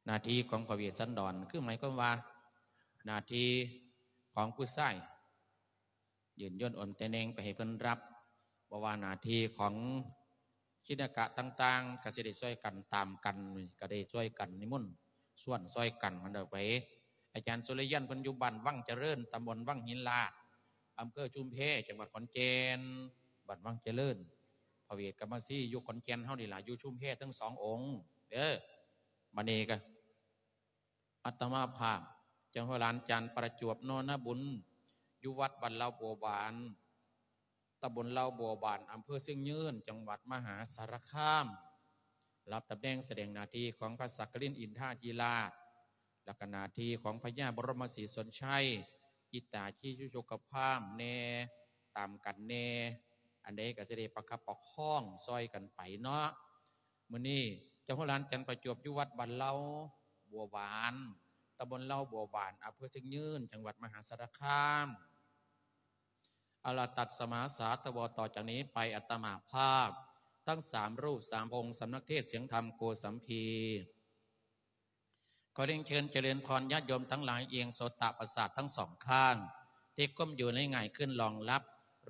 ໜ້າທີ່ຂອງພະເວດສັນດອນ ຄືໝາຍຄວາມວ່າ ໜ້າທີ່ຂອງຜູ້ຊາຍ ຍື່ນຍົນໂອນຕຳແໜ່ງໄປໃຫ້ເພິ່ນຮັບ, ບໍ່ວ່າໜ້າທີ່ຂອງ ກິດຈະກະຕ່າງໆ ກໍຊິໄດ້ຊ່ວຍກັນຕາມກັນ, ກໍໄດ້ຊ່ວຍກັນນິມົນຊວນຊ່ອຍກັນຫັ້ນດອກໄປ. ອາຈານສຸລິຍັນ ເພິ່ນຢູ່ບ້ານວັງຈະເລີນ ຕຳບົນວັງຫີນລາດ ອຳເພີຊຸມແພ ຈັງຫວັດຂອນແກ່ນ, ບ້ານວັງຈະເລີນ. ພະເວດກັບມາຊີຢູ່ຂອນແກ່ນເຮົານີ້ລະ ຢູ່ຊຸມແພທັງສອງອົງເດີ. ບັດນີ້ກໍ ອາດຕະມາພາບ ເຈົ້າຫົວຫຼານຈານປະຈວບ ໂນນະບຸນ ຢູ່ວັດບ້ານເຫຼົ່າບົວບານ ຕຳບົນເຫຼົ່າບົວບານ ອຳເພີຊຽງຍືນ ຈັງຫວັດມະຫາສາລະຄາມ ຮັບຕຳແໜ່ງສະແດງໜ້າທີ່ຂອງພະສັກກະລິນອິນທາທິລາດ ແລ້ວກໍໜ້າທີ່ຂອງພະຍາບໍລົມມະສີສົນໄຊ ອິດຕາຊີສຸໂຊກະພາມແດ່ ຕາມກັນແດ່ ອັນໃດກໍຊິໄດ້ປະຄັບປະຄອງຊ່ອຍກັນໄປເນາະ. ມື້ນີ້ເຈົ້າຫົວຫຼານຈັນປະຈວບຢູ່ວັດບ້ານເຫຼົ່າບົວບານ ຕຳບົນເຫຼົ່າບົວບານ ອຳເພີຊຽງຍືນ ຈັງຫວັດມະຫາສາລະຄາມ. ອະລະຕັດສະມາສາທະວະ ຕໍ່ຈາກນີ້ໄປອາດຕະມາພາບ ທັງສາມຮູບສາມອົງ ສຳນັກເທດສຽງທຳໂກສຳພີ ຂໍລຽນເຊີນຈະເລີນພອນຍາດໂຍມທັງຫຼາຍ ອຽງໂສຕະປະສາດທັງສອງຂ້າງ ທີ່ກົ້ມຢູ່ໃນຫງາຍຂຶ້ນລອງລັບ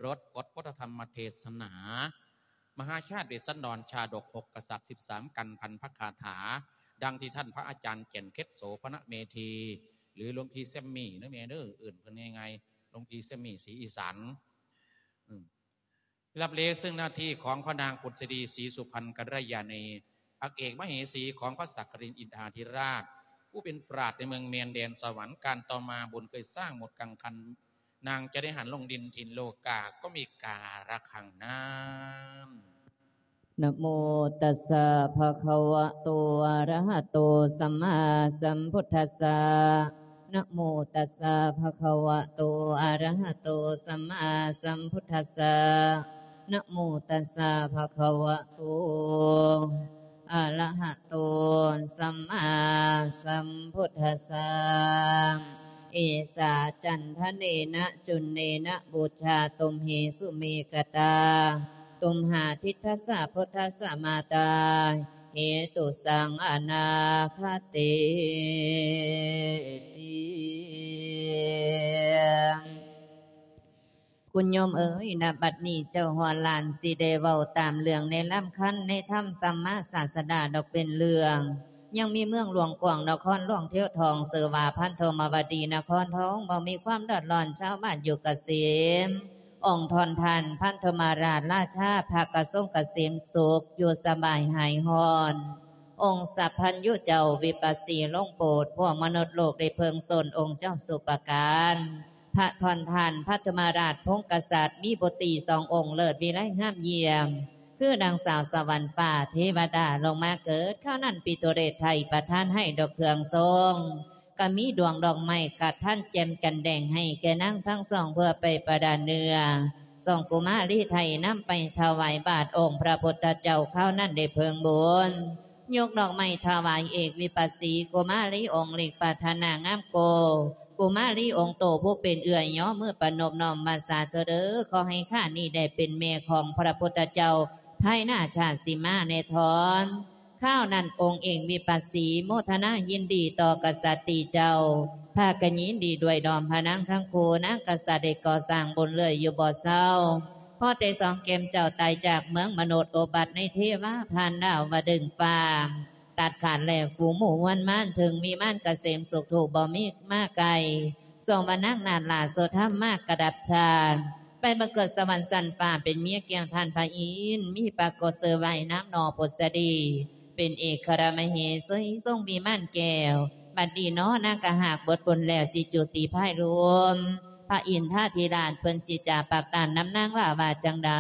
ລົດກົດພຸດທະທຳມະເທດສະໜາ ມະຫາຊາດເວດສັນດອນ ຊາດົກຫົກກະສັດສິບສາມກັນພັນພະຄາຖາ ດັ່ງທີ່ທ່ານພະອາຈານແກ່ນເຄັດ ໂສພະນະເມທີ ຫຼື ຫຼວງພີ່ແຊມມີ້ເດີແມ່ເດີ ເອີ້ນເພິ່ນງ່າຍໆ ຫຼວງພີ່ແຊມມີ້ ສີອີສານ ອືມ ຮັບເລເຊິ່ງໜ້າທີ່ຂອງພະນາງພຸດສະດີ ສີສຸພັນກັນລະຍານີ ອັກເອກມະເຫສີຂອງພະສັກກະລິນອິນທາທິລາດ ຜູ້ເປັນປາດໃນເມືອງແມນແດນສະຫວັນ. ການຕໍ່ມາບຸນເຄີຍສ້າງໝົດກາງຄັນ ນາງຈະໄດ້ຫັນລົງດິນຖິ່ນໂລກາ ກໍມີກາລະຄັງນັ້ນ. ນະໂມຕັດສະ ພະຄະວະໂຕ ອະຣະຫະໂຕ ສຳມາສຳພຸດທັດສະ. ນະໂມຕັດສະ ພະຄະວະໂຕ ອະຣະຫະໂຕ ສຳມາສຳພຸດທັດສະ. ນະໂມຕັດສະ ພະຄະວະໂຕ ອະຣະຫະໂຕ ສຳມາສຳພຸດທັດສະ. ເອສາ ຈັນທະເນນະ ຈຸນເນນະ ບູຊາຕຸມເຫ ສຸເມກະຕາ ຕຸມຫາທິດທັດສະ ພຸດທັດສະມາຕາ ເຫຕຸສັງ ອະນາຄະເຕຕິ. ຄຸນໂຍມເອີຍ, ນະບັດນີ້ເຈົ້າຮອດຫຼານຊິໄດ້ເວົ້າຕາມເລື່ອງໃນລຳຄັນໃນທຳສຳມາສາສະດາດອກເປັນເລື່ອງ. ຍັງມີເມືອງຫຼວງກວາງນະຄອນຫຼວງທຽວທອງ ຊື່ວ່າພັນທອງມາວະດີນະຄອນທອງ ບໍ່ມີຄວາມເດືອດຮ້ອນ ຊາວບ້ານຢູ່ກະເສມ. ອົງທ່ອນທ່ານພັນທມາລາດລາຊາ ພະກະຊົງກະເສມສຸກ ຢູ່ສະບາຍຫາຍຮ້ອນ. ອົງສັບພັນຍຸເຈົ້າວິປັດສີລົງໂປດ ພວກມະນຸດໂລກໄດ້ເພິ່ງຊົນອົງເຈົ້າສຸປະການ. ພະທ່ອນທ່ານພັນທມາລາດພົງກະສັດ ມີບຸດຕີສອງອົງເລີດວິໄລງາມຢ້ຽມ ຄືນາງສາວສະຫວັນຟ້າເທວະດາລົງມາເກີດ. ຄາວນັ້ນປິໂຕເຣດໄທປະທານໃຫ້ດອກເຄື່ອງຊົງ ກະມີດວງດອກໄມ້ຂັດທັນແຈ່ມກັນແດງໃຫ້ແກ່ນາງທັງສອງເພື່ອໄປປະດາເນື້ອ. ສອງກຸມາລີໄທນຳໄປຖວາຍບາດອົງພະພຸດທະເຈົ້າ ຄາວນັ້ນໄດ້ເພິ່ງບຸນ ຍົກດອກໄມ້ຖວາຍເອກວິປັດສີ ກຸມາລີອົງເລັກປາດຖະໜາງາມໂກ ກຸມາລີອົງໂຕຜູ້ເປັນເອື້ອຍ ຍໍມືປະນົມນ້ອມວ່າ ສາທຸເດີ ຂໍໃຫ້ຂ້ານີ້ໄດ້ເປັນແມ່ຂອງພະພຸດທະເຈົ້າ ພາຍໜ້າຊາດຊິມາແນ່ທອນ. ຄາວນັ້ນອົງເອກວິປັດສີໂມທະນາຍິນດີຕໍ່ກະສັດຕີເຈົ້າ ພາກັນຍິນດີດ້ວຍນ້ອມພະນາງທັງຄູ່. ນາງກະສັດໄດ້ກໍ່ສ້າງບຸນເລື້ອຍຢູ່ບໍ່ເຊົາ ພໍແຕ່ສອງແກ້ມເຈົ້າຕາຍຈາກເມືອງມະນຸດ ໂອບັດໃນເທວາຜ່ານດາວວະດຶງຟ້າ ຕັດຂາດແລ້ວຝູງໝູ່ມວນມານ ເຖິງວິມານກະເສມສຸກ ທຸກບໍ່ມີມາໄກ ສົມວ່ານາງນາດລາໂສທຳມາກະດັບຊາດ ໄປບັງເກີດສະຫວັນຊັ້ນຟ້າ ເປັນເມຍແກ້ວທ່ານພະອິນ ມີປາກົດຊື່ວ່ານາງໜໍພຸດສະດີ ເປັນເອກຄະລະມະເຫສີ ຊົງວິມານແກ້ວ. ບັດນີ້ໜໍນາງກະຫາກເບິດບຸນແລ້ວ ຊິຈຸຕິພາຍລວມ ພະອິນທາທິລາດເພິ່ນຊິຈາປາກຕານນຳນາງລາວວ່າຈັ່ງໃດ?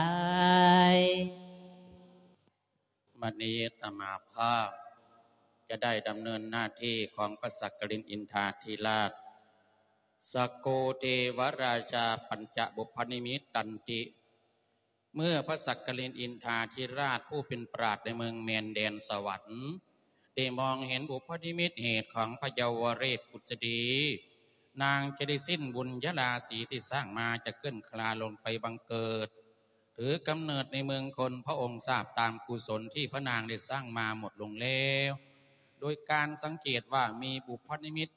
ບັດນີ້ອາດຕະມາພາບຈະໄດ້ດຳເນີນໜ້າທີ່ຂອງພະສັກກະລິນອິນທາທິລາດ ສັກໂກເທວະລາຊາ ປັນຈະບຸບພະນິມິດຕັນຕິ. ເມື່ອພະສັກກະລິນອິນທາທິລາດຜູ້ເປັນປາດໃນເມືອງແມນແດນສະຫວັນ ໄດ້ມອງເຫັນບຸບພະນິມິດເຫດຂອງພະເຍົາວະເຣດພຸດສະດີ ນາງຈະໄດ້ສິ້ນບຸນຍະລາສີທີ່ສ້າງມາຈະເຄື່ອນຄລາລົງໄປບັງເກີດ ຖືກຳເນີດໃນເມືອງຄົນ ພະອົງຊາບຕາມກຸສົນທີ່ພະນາງໄດ້ສ້າງມາໝົດລົງແລ້ວ. ໂດຍການສັງເກດວ່າມີບຸບພະນິມິດ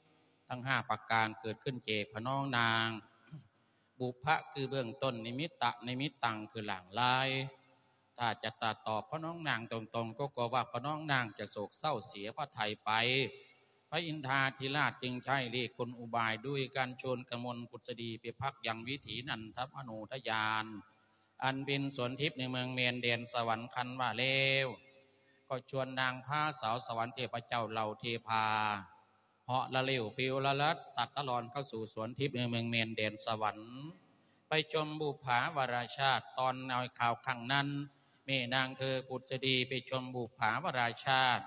ທັງຫ້າປະການເກີດຂຶ້ນແກ່ຂະນ້ອງນາງ. ບຸບພະຄືເບື້ອງຕົ້ນ, ນິມິດຕະ, ນິມິດຕັງ ຄືລ່າງລາຍ. ຖ້າຈະຕັດຕອບຂະນ້ອງນາງຕົງໆ ກໍກັວວ່າຂະນ້ອງນາງຈະໂສກເສົ້າເສຍພະໄທໄປ. ພະອິນທາທິລາດຈຶ່ງໃຊ້ລີກລົນອຸບາຍດ້ວຍການຊວນກະມົນພຸດສະດີໄປພັກຍັງວິຖີນັນທະມະໂນທະຍານ ອັນເປັນສວນທິບໃນເມືອງແມ່ນແດນສະຫວັນ. ຄັນວ່າແລ້ວ ກໍຊວນນາງພາສາວສະຫວັນເທບພະເຈົ້າເຫຼົ່າເທພາ ເຫາະລະເຫຼວປິວລະລັດຕັດຕະລອນເຂົ້າສູ່ສວນທິບໃນເມືອງແມ່ນແດນສະຫວັນ ໄປຊົມບຸບພາວາລະຊາດ. ຕອນໃນຂ່າວຄັ້ງນັ້ນ ແມ່ນາງເທີພຸດສະດີໄປຊົມບຸບພາວາລະຊາດ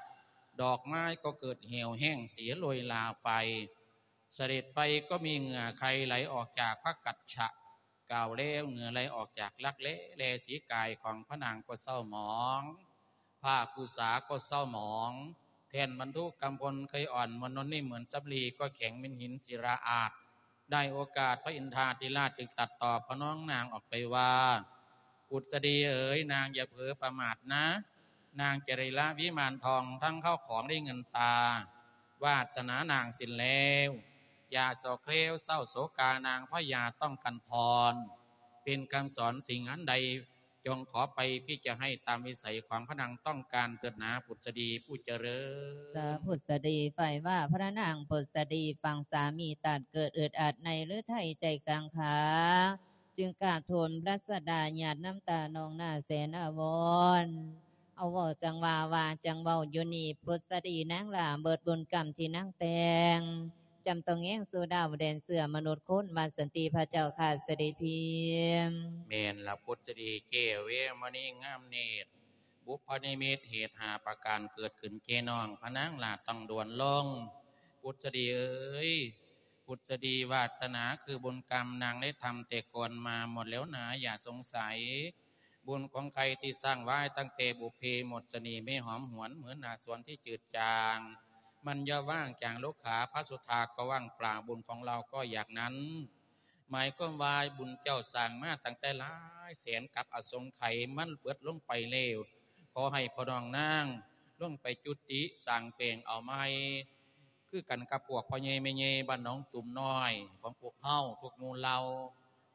ດອກໄມ້ກໍເກີດຫ່ຽວແຫ້ງເສຍໂລຍລາໄປ. ສະເດັດໄປກໍມີເຫື່ອໄຄໄຫຼອອກຈາກພະກັດສະ ກ່າວແລ້ວເຫື່ອໄຫຼອອກຈາກລັກແຮ້ ແລສີກາຍຂອງພະນາງກໍເສົ້າໝອງ ຜ້າກຸສາກໍເສົ້າໝອງ. ແທ່ນວັນຖຸກຳພົນເຄີຍອ່ອນເໝືອນນົນ ນີ້ເໝືອນສຳລີ ກໍແຂງເໝືອນຫີນສິລາອາດ. ໄດ້ໂອກາດ ພະອິນທາທິລາດຈຶ່ງຕັດຕອບຂະນ້ອງນາງອອກໄປວ່າ ພຸດສະດີເອີຍ, ນາງຢ່າເຜີປະໝາດນະ. ນາງຈະໄດ້ລະວິມານທອງ ທັງເຂົ້າຂອງ ແລະ ເງິນຕາ ວາດສະໜານາງສິ້ນແລ້ວ. ຢ່າສອກແຄວເສົ້າໂສການາງ, ເພາະຢ່າຕ້ອງກັນພອນ. ເປັນຄຳສອນສິ່ງອັນໃດ ຈົ່ງຂໍໄປພິຈາໃຫ້ຕາມວິໄສຂອງພະນາງຕ້ອງການເທີດນາ ພຸດສະດີຜູ້ຈະເລີນ. ສາພຸດສະດີ ຝ່າຍວ່າພະນາງພຸດສະດີ ຟັງສາມີຕັດເກີດອຶດອັດໃນລືໄທໃຈກາງຂາ ຈຶ່ງກາບທູນພະສະດາຍາດນ້ຳຕານອງໜ້າແສນອາວອນ. ເອົາເວົ້າຈັ່ງວ່າ ວ່າຈັ່ງເວົ້າຢູ່ນີ້ ພຸດສະດີນາງຫຼ້າ ເບິດບຸນກຳທີ່ນາງແຕ່ງ ຈຳຕ້ອງແຍງສູ່ດາວແດນເສືອມະນຸດຄົນວ່າຊັ້ນຕິ ພະເຈົ້າຂ້າສະເດັດພີ. ແມ່ນລະພຸດສະດີແກ້ວແວວມະນີງາມເນດ, ບຸບພະນິມິດເຫດຫ້າປະການເກີດຂຶ້ນແກ່ນ້ອງ, ພະນາງຫຼ້າຕ້ອງດ່ວນລົງ. ພຸດສະດີເອີຍ, ພຸດສະດີ ວາດສະໜາຄືບຸນກຳນາງໄດ້ທຳແຕ່ກ່ອນມາໝົດແລ້ວນາ, ຢ່າສົງໄສ. ບຸນຂອງໃຄທີ່ສ້າງໄວ້ຕັ້ງແຕ່ບຸບເພ ໝົດສະເໜ່ແມ່ຫອມຫວນ ເໝືອນໜ້າສວນທີ່ຈືດຈາງ. ມັນຢ່າວ່າງຈາງໂລກຂາ ພະສຸທາກໍວ່າງເປົ່າ, ບຸນຂອງລາວກໍຢ່າງນັ້ນ. ໝາຍຄວາມວ່າບຸນເຈົ້າສ້າງມາຕັ້ງແຕ່ຫຼາຍແສນກັບອະສົງໄຂ ມັນເບິດລົງໄປແລ້ວ. ຂໍໃຫ້ພໍ່ນ້ອງນາງລົງໄປຈຸຕິສ້າງແປງເອົາໃໝ່ ຄືກັນກັບພວກພໍ່ໃຫຍ່ແມ່ໃຫຍ່ບ້ານໜອງຕຸ່ມນ້ອຍຂອງພວກເຮົາທຸກໝູ່ເຫຼົ່າ.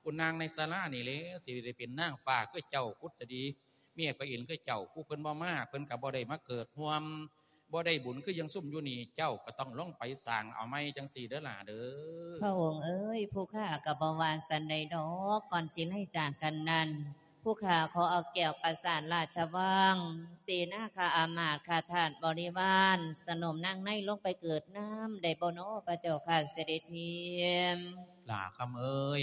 ຜູ້ນາງໃນສາລານີ້ແຫຼະ ຊິໄດ້ເປັນນາງຟ້າຄືເຈົ້າ ພຸດສະດີ, ເມຍພະອິນຄືເຈົ້າ. ຜູ້ເພິ່ນບໍ່ມາ ເພິ່ນກໍບໍ່ໄດ້ມາເກີດຮ່ວມ, ບໍ່ໄດ້ບຸນຄືຢ່າງຊຸມຢູ່ນີ້. ເຈົ້າກໍຕ້ອງລົງໄປສ້າງເອົາໃໝ່ຈັ່ງຊີ້ເດີຫຼ້າເດີ. ພະອົງເອີຍ, ຜູ້ຂ້າກໍບໍ່ວ່າສັນໃດດອກ. ກ່ອນຊິໄລ່ຈາກກັນນັ້ນ ຜູ້ຂ້າຂໍເອົາແກ້ວປາສາດລາຊະວັງ, ເສນາຂ້າອາມາດ, ຂ້າທາດບໍລິວານ, ສະໜົມນາງໃນລົງໄປເກີດນຳໄດ້ບໍ່ນໍ ພະເຈົ້າຂ້າສະເດັດພີ? ຫຼ້າຄຳເອີຍ,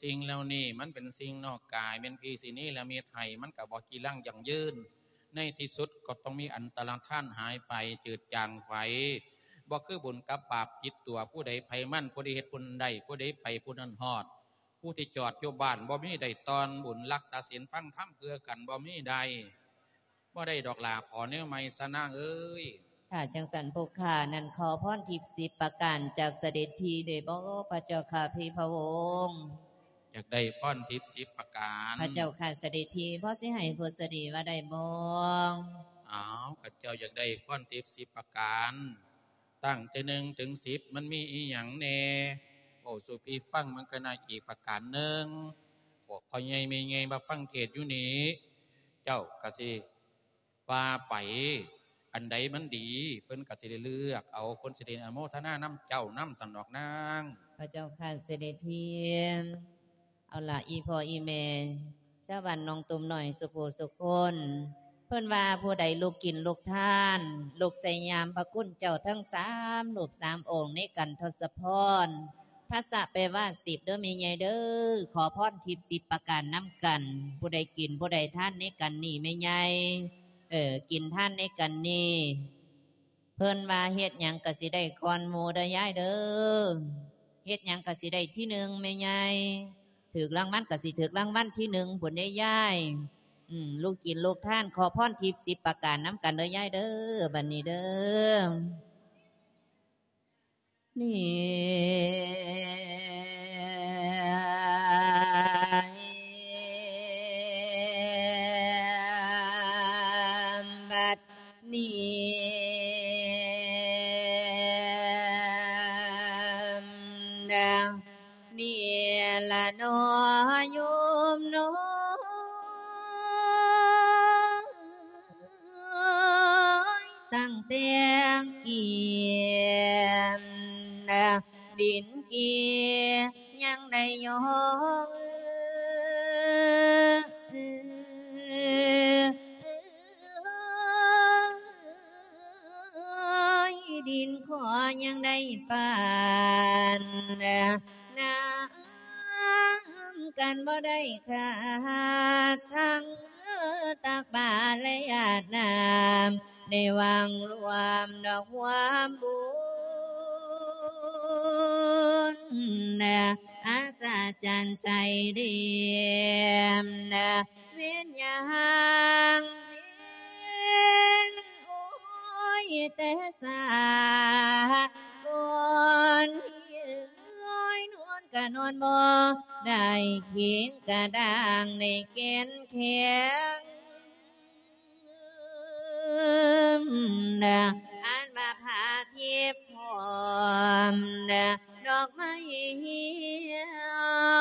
ສິ່ງເຫຼົ່ານີ້ມັນເປັນສິ່ງນອກກາຍ, ແມ່ນຜີຊິເນລະມິດໃຫ້, ມັນກໍບໍ່ຈີລັງຢັ້ງຢືນ. ໃນທີ່ສຸດກໍຕ້ອງມີອັນຕະລະທານຫາຍໄປ, ຈືດຈາງໄປ, ບໍ່ຄືບຸນກັບບາບຕິດຕົວຜູ້ໃດໃຜມັນ, ຜູ້ໃດເຮັດບຸນໄດ້, ຜູ້ໃດໄປຜູ້ນັ້ນຮອດ. ຜູ້ທີ່ຈອດຢູ່ບ້ານບໍ່ມີໄດ້ຕ້ອນບຸນ, ຮັກສາສິນຟັງທຳເພື່ອກັນບໍ່ມີໄດ້. ບໍ່ໄດ້ດອກຫຼ້າ ຂໍແນວໃໝ່ຊະນາງເອີຍ. ຖ້າຈັ່ງຊັ້ນພວກຂ້ານັ້ນຂໍພອນທິບສິບປະການຈາກສະເດັດພີໄດ້ບໍ່ ພະເຈົ້າຂ້າພີ່ພະອົງ? ຢາກໄດ້ພອນທິບສິບປະການ. ພະເຈົ້າຂ້າສະເດັດພີ ພໍຊິໃຫ້ຜູ້ສະດີວ່າໄດ້ບໍ່? ອ້າວ ຂ້າເຈົ້າຢາກໄດ້ພອນທິບສິບປະການ. ຕັ້ງແຕ່ໜຶ່ງເຖິງສິບ ມັນມີອີ່ຫຍັງແດ່? ເວົ້າສູ່ພີ່ຟັງມັນກໍນະ ອີກປະການໜຶ່ງ. ພວກພໍ່ໃຫຍ່ແມ່ໃຫຍ່ມາຟັງເທດຢູ່ນີ້ ເຈົ້າກໍຊິວ່າໄປ ອັນໃດມັນດີ ເພິ່ນກໍຊິໄດ້ເລືອກເອົາ, ເພິ່ນຊິໄດ້ອະນຸໂມທະນານຳເຈົ້ານຳຊັ້ນດອກນາງ. ພະເຈົ້າຂ້າສະເດັດພີ. ເອົາລະ ອີ່ພໍ່ອີ່ແມ່ ຊາວບ້ານໜອງຕຸ່ມນ້ອຍສຸຜູ້ສຸຄົນ, ເພິ່ນວ່າຜູ້ໃດລຸກກິນລຸກທານ ລຸກໃສ່ຍາມພະຄຸນເຈົ້າທັງສາມຮູບສາມອົງໃນກັນທົດສະພອນ ທະສະແປວ່າສິບເດີແມ່ໃຫຍ່ເດີ, ຂໍພອນທິບສິບປະການນຳກັນ. ຜູ້ໃດກິນຜູ້ໃດທານໃນກັນນີ້ແມ່ໃຫຍ່, ເອີ ກິນທານໃນກັນນີ້ ເພິ່ນວ່າເຮັດຫຍັງກະຊິໄດ້ກ່ອນໝູ່ເດີຍາຍເດີ, ເຮັດຫຍັງກະຊິໄດ້ທີໜຶ່ງແມ່ໃຫຍ່, ຖືກລາງວັນກະຊິຖືກລາງວັນທີໜຶ່ງພຸ້ນເດ້ຍາຍ. ອືມ ລູກກິນລູກທານ ຂໍພອນທິບສິບປະການນຳກັນເດີຍາຍເດີ ບັດນີ້ເດີ. ນີ້ ບັດນີ້ ນີ້ລະໜໍໂຍມນ້ອຍ ຕັ້ງແຕ່ກີ້ນະ ດິນກີຍັງໄດ້ຍ້ອງ ດິນຂໍຍັງໄດ້ປານ ນຳກັນບໍ່ໄດ້ຂາດ ທັງຕັກບາດ ແລະ ຢາດນ້ຳ ໄດ້ຫວັງລວມດອກຄວາມບຸນ ອັດສະຈັນໃຈເດ ເປັນຫຍັງເຫັນ ໂອ້ຍ ແຕ່ສາກ່ອນ ເອີຍ ນອນກະນອນບໍ່ໄດ້ ເຄງກະດ້າງໃນແກ່ນແຂງ ອັນວ່າຜ້າທິບຫອມ ດອກໄມ້ຫ່ຽ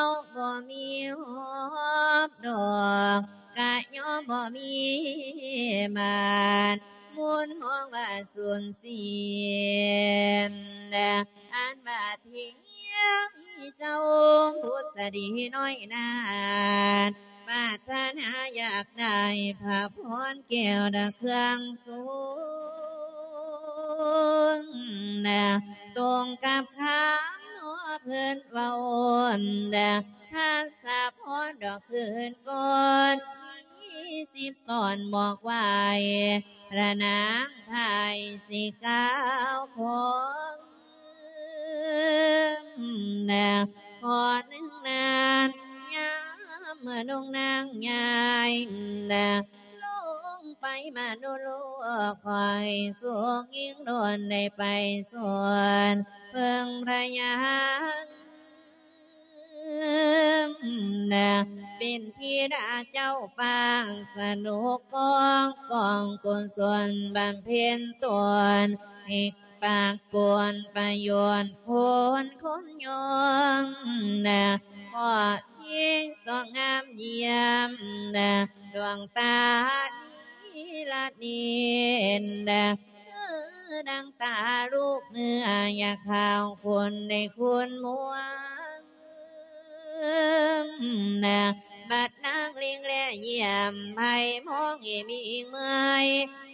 ວ ບໍ່ມີຫອມດອກ ກະຍ້ອນບໍ່ມີບາດ ໝູນມອງວ່າສູນເສຍ ອັນວ່າທີ່ເຈົ້າຜູ້ສະດີນ້ອຍນັ້ນ ປາດຖະໜາຢາກໄດ້ພະພອນແກ້ວ ແລະ ເຄື່ອງສູງ ຕົງກັບຄຳເພິ່ນເວົ້າ ທັດສະພອນດອກຄືນກ່ອນ ມີສິບຕອນບອກໄວ້ ພະນາງໄທຊິກ່າວຂອງ ຂໍໜຶ່ງນານ ຍາມເມື່ອນົງນາງຍາຍ ລົງໄປມະນຸໂລກ ຂໍໃຫ້ສຸກຍິ່ງດົນ ໄດ້ໄປສວນເພິ່ງພະຍາ ເປັນທິດາເຈົ້າຟ້າ ສະໜຸກກອງ ກອງກຸສົນບຳເພັນຕົນ ໃຫ້ປາກກົນປະໂຫຍດ ຄົນຄົນຍອງ ພໍທີ່ສອງງາມຢ້ຽມ ດວງຕານີລະເນນ ດັ່ງຕາລູກເນື້ອ ຢາກຂາວຂຸ້ນໃນຄຸນມ່ວງ ບັດນາງເລັງແລຢ້ຽມ ໃຜມອງອີ່ມີເມື່ອຍ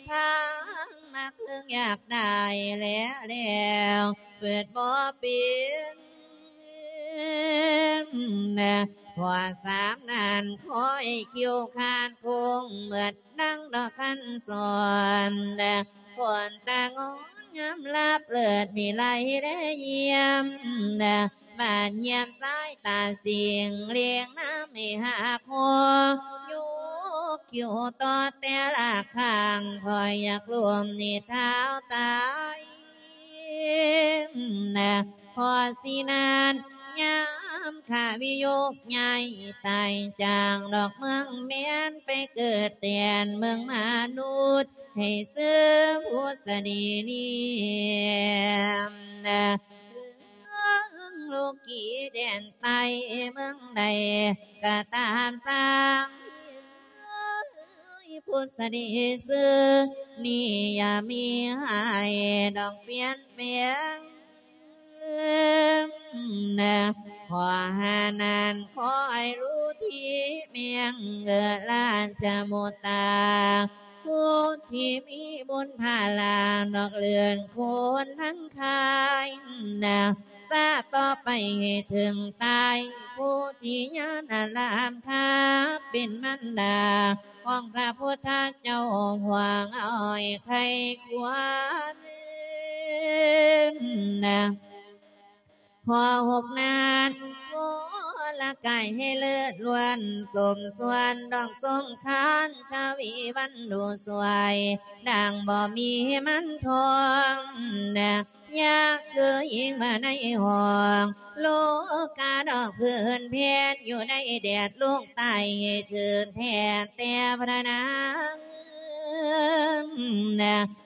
ທາງມັກເພິ່ງຢາກໄດ້ແລະແລ້ວ ເປີດບໍ່ເປັນ ພໍສາມນັ້ນ ຂໍໃຫ້ຄິວຂາດຄົງ ເໝືອນດັ່ງດອກຄັນສອນ ຄົນຕາງອນຍາມຫຼັບ ເລີດມີໄຫຼແລຢ້ຽມ ບາດຢ້ຽມສາຍຕາສິງ ລຽງນ້ຳໃຫ້ຫາກຫໍ ຍົກຄິວຕໍ່ແຕ່ລະຂ້າງ ພໍຢາກລົມນີ້ທ້າວຕາຍ ພໍຊິນານ ຍາມຂ້າວິໂຍກຍ້າຍ ຕາຍຈາກດອກເມືອງແມ່ນ ໄປເກີດແດນເມືອງມະນຸດ ໃຫ້ຊື່ຜູ້ສະດີນີ້ ເມືອງໂລກີແດນໃຕ້ເມືອງໃດກະຕາມຊ່າງ ຜູ້ສະດີຊື່ນີ້ຢ່າມີໃຫ້ດອກປ່ຽນແປງ ຂໍຫານານ ຂໍໃຫ້ຮູ້ທີ່ແມງເກີດລາຊະມຸດຕາ ຜູ້ທີ່ມີບຸນພາລາ ນອກເລື່ອນຄົນທັງຂາຍ ຊາດຕໍ່ໄປໃຫ້ເຖິງຕາຍ ຜູ້ທີ່ຍານອາລາມຄາ ເປັນມັນດາຂອງພະພຸດທະເຈົ້າ ຫວງເອົາໃຫ້ໄຄຄວາມ ຂໍຫົກນານ ຂໍລະກາຍໃຫ້ເລີດລ້ວນ ສົມສ່ວນດອກສົງຄານ ຊະວີວັນດູສວຍ ດັ່ງບໍ່ມີມັນທອງ ຢາກຄືອີງມາໃນຫ້ອງ ໂລກາດອກພື້ນແຜ່ນ ຢູ່ໃນແດດໂລກໃຕ້ ໃຫ້ຖືນແທນແຕ່ພະນາງ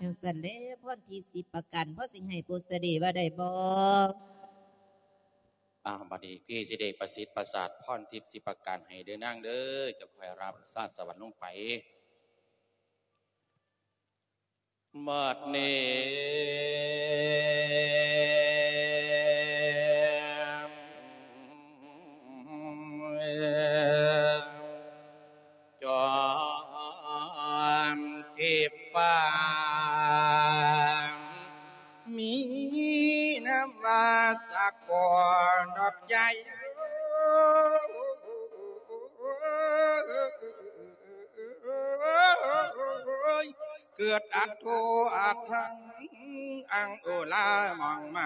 ຈັ່ງຊັ້ນແຫຼະ ພອນທິບສິບປະການ ພໍຊິໃຫ້ປຸດສະດີວ່າໄດ້ບໍ່? ອ່າ ບັດນີ້ພີ່ຊິໄດ້ປະສິດປະສາດພອນທິບສິບປະການໃຫ້ເດີນາງເດີ ຈະຄ່ອຍລາພະສາດສະຫວັນລົງໄປ. ບັດນີ້ ຈອມທິບຟ້າ ມີນາມວ່າສາກອນດອກໃຫຍ່ ເກີດອັດໂທອັດທັງ ອັງໂອລາມອງໄມ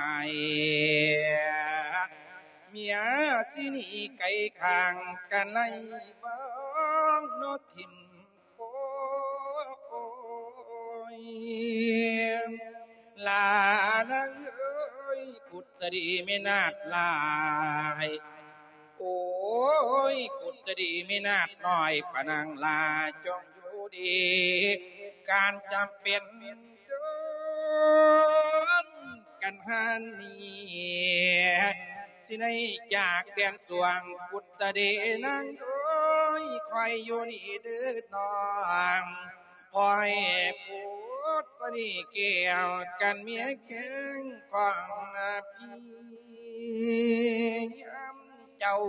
ເມຍຊິໜີໄກຂ້າງກັນໄລ ເບິ່ງໂນທິມໂອຍ ລານາງເອີຍ ກຸດສະດີເມນາດຫຼາຍ ໂອຍ ກຸດສະດີເມນາດນ້ອຍ ປະນາງລາຈົ່ງຢູ່ດີ ການຈຳເປັນເດີນກັນຫານີ້ ຊິໄດ້ຈາກແດນສວງ ກຸດສະດີນາງເອີຍ ຄອຍຢູ່ນີ້ເດີນ້ອງ ຄອຍກຸດສະດີແກ້ວ ກັນເມຍແກ້ງຂອງນາພີ ຍາມ ເຈົ້າ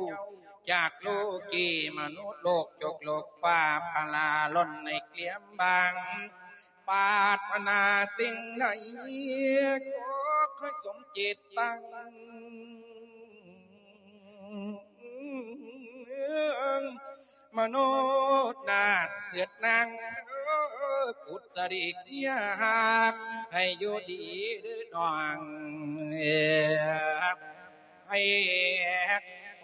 ຈາກໂລກີມະນຸດໂລກ ຈົກໂລກຟ້າ ພະລາລົ້ນໃນກຽມບາງ ປາດຖະໜາສິ່ງໃດ ຂໍໃຫ້ສົມຈິດຕັ້ງ ມະໂນນາດເກີດນາງເອີ ກຸດສະດີກຍາກ ໃຫ້ຢູ່ດີເດີນ້ອງ ໃຫ້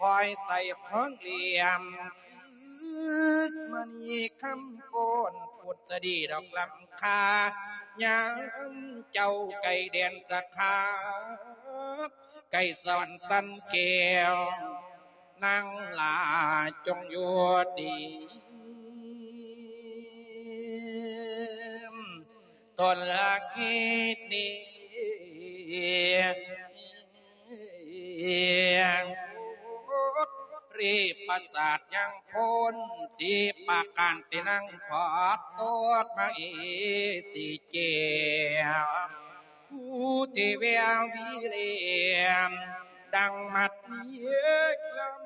ຄອຍໃສ່ຫ້ອງຫຼຽມ ຄືມະນີຄຳໂກນ ປຸດສະດີດອກລ້ຳຄ່າ ຍາມເຈົ້າໃກ້ແດນສະຂາ ໃກ້ສະຫວັນສັນແກ້ວ ນາງຫຼ້າຈົ່ງຢູ່ດີ ຕົ້ນເຫດນີ້ ເຣປະສາດຍັງໂພນ ສີ່ປະການ ທີ່ນັ່ງຂໍໂທດມະເອຕິເຈ ຜູ້ທີ່ແວວວິເລມ ດັ່ງມັດມີເອກລຳ